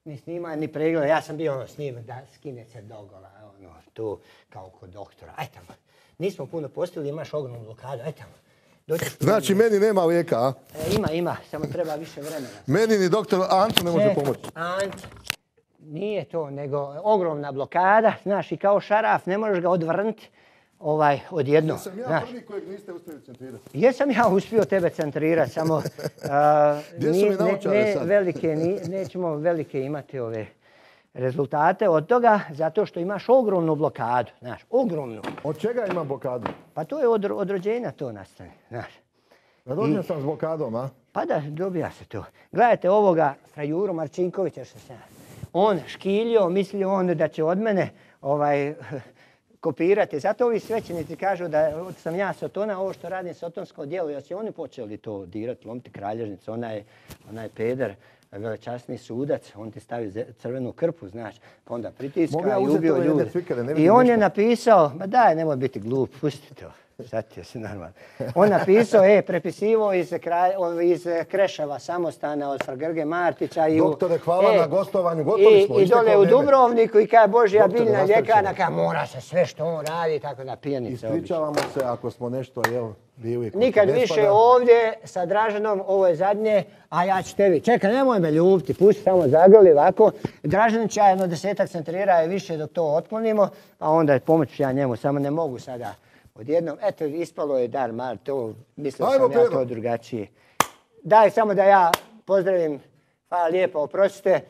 ni snimanje, ni pregleda. Ja sam bio ono snimak da skine se dogola, ono, tu kao kod doktora. Aj tamo. Nismo puno postavili, imaš ogromnu blokadu, aj tamo. Znači, meni nema lijeka, a? E, ima, ima, samo treba više vremena. Meni ni doktor Anto ne može Čekaj, pomoći. Ante, nije to, nego ogromna blokada, znaš, i kao šaraf, ne možeš ga odvrnuti ovaj, odjednom. Jesam ja znaš. prvi kojeg niste uspjeli centrirati. Jesam ja uspio tebe centrirati, samo a, Gdje su nije- mi ne, naočare ne sad? velike, ni, nećemo velike imati ove rezultate od toga, zato što imaš ogromnu blokadu, znaš, ogromnu. Od čega imam blokadu? Pa to je od, od rođenja to nastane, znaš. Rođen sam s blokadom, a? Pa da, dobija se to. Gledajte ovoga Frajuru Marčinkovića što sam. On škiljio, mislio on da će od mene ovaj, kopirati. Zato ovi svećenici kažu da sam ja Sotona, ovo što radim sotonsko djelo, jer su oni počeli to dirati, lomiti kralježnicu, onaj, onaj peder, velečasni sudac, on ti stavi ze- crvenu krpu, znaš, pa onda pritiska Mogu ja i uzeti ubio ove jedne ljude. cvikere, ne I vidim on je ništa. napisao, ma daj, nemoj biti glup, pusti to. Sad se normalno. On napisao, e, prepisivo iz, kralj, iz Kreševa samostana od Fra Grge Martića. I u- Doktore, hvala e, na gostovanju, gotovi i, smo, I isteklo dole u vrijeme. Dubrovniku i kaže Božja Doktore, biljna nastavit ćemo. ljekarna, kaže mora se sve što on radi, tako da pijanice obično. Ispričavamo se ako smo nešto, jel, bili. kod Nikad ne više spada. ovdje sa Draženom, ovo je zadnje, a ja ću tebi. Čekaj, nemoj me ljubiti, pusti samo zagrli ovako. Dražen će ja jedno desetak centrira i više dok to otklonimo, a onda pomoći ja njemu, samo ne mogu sada odjednom. Eto, ispalo je dar mar, to mislio Ajmo, sam ja Pero. to drugačije. Daj samo da ja pozdravim, hvala lijepo, oprostite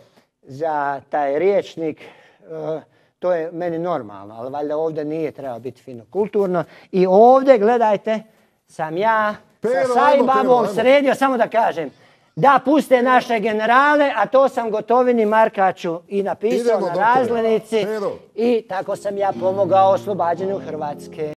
za taj riječnik. e, To je meni normalno, ali valjda ovdje nije trebalo biti fino kulturno. I ovdje, gledajte, sam ja Pero, sa ajmo, Sajbabom Pero, ajmo. sredio, samo da kažem, da puste naše generale, a to sam Gotovini Markaču i napisao Idemo, na doktore. razglednici. Pero. I tako sam ja pomogao oslobađanju Hrvatske.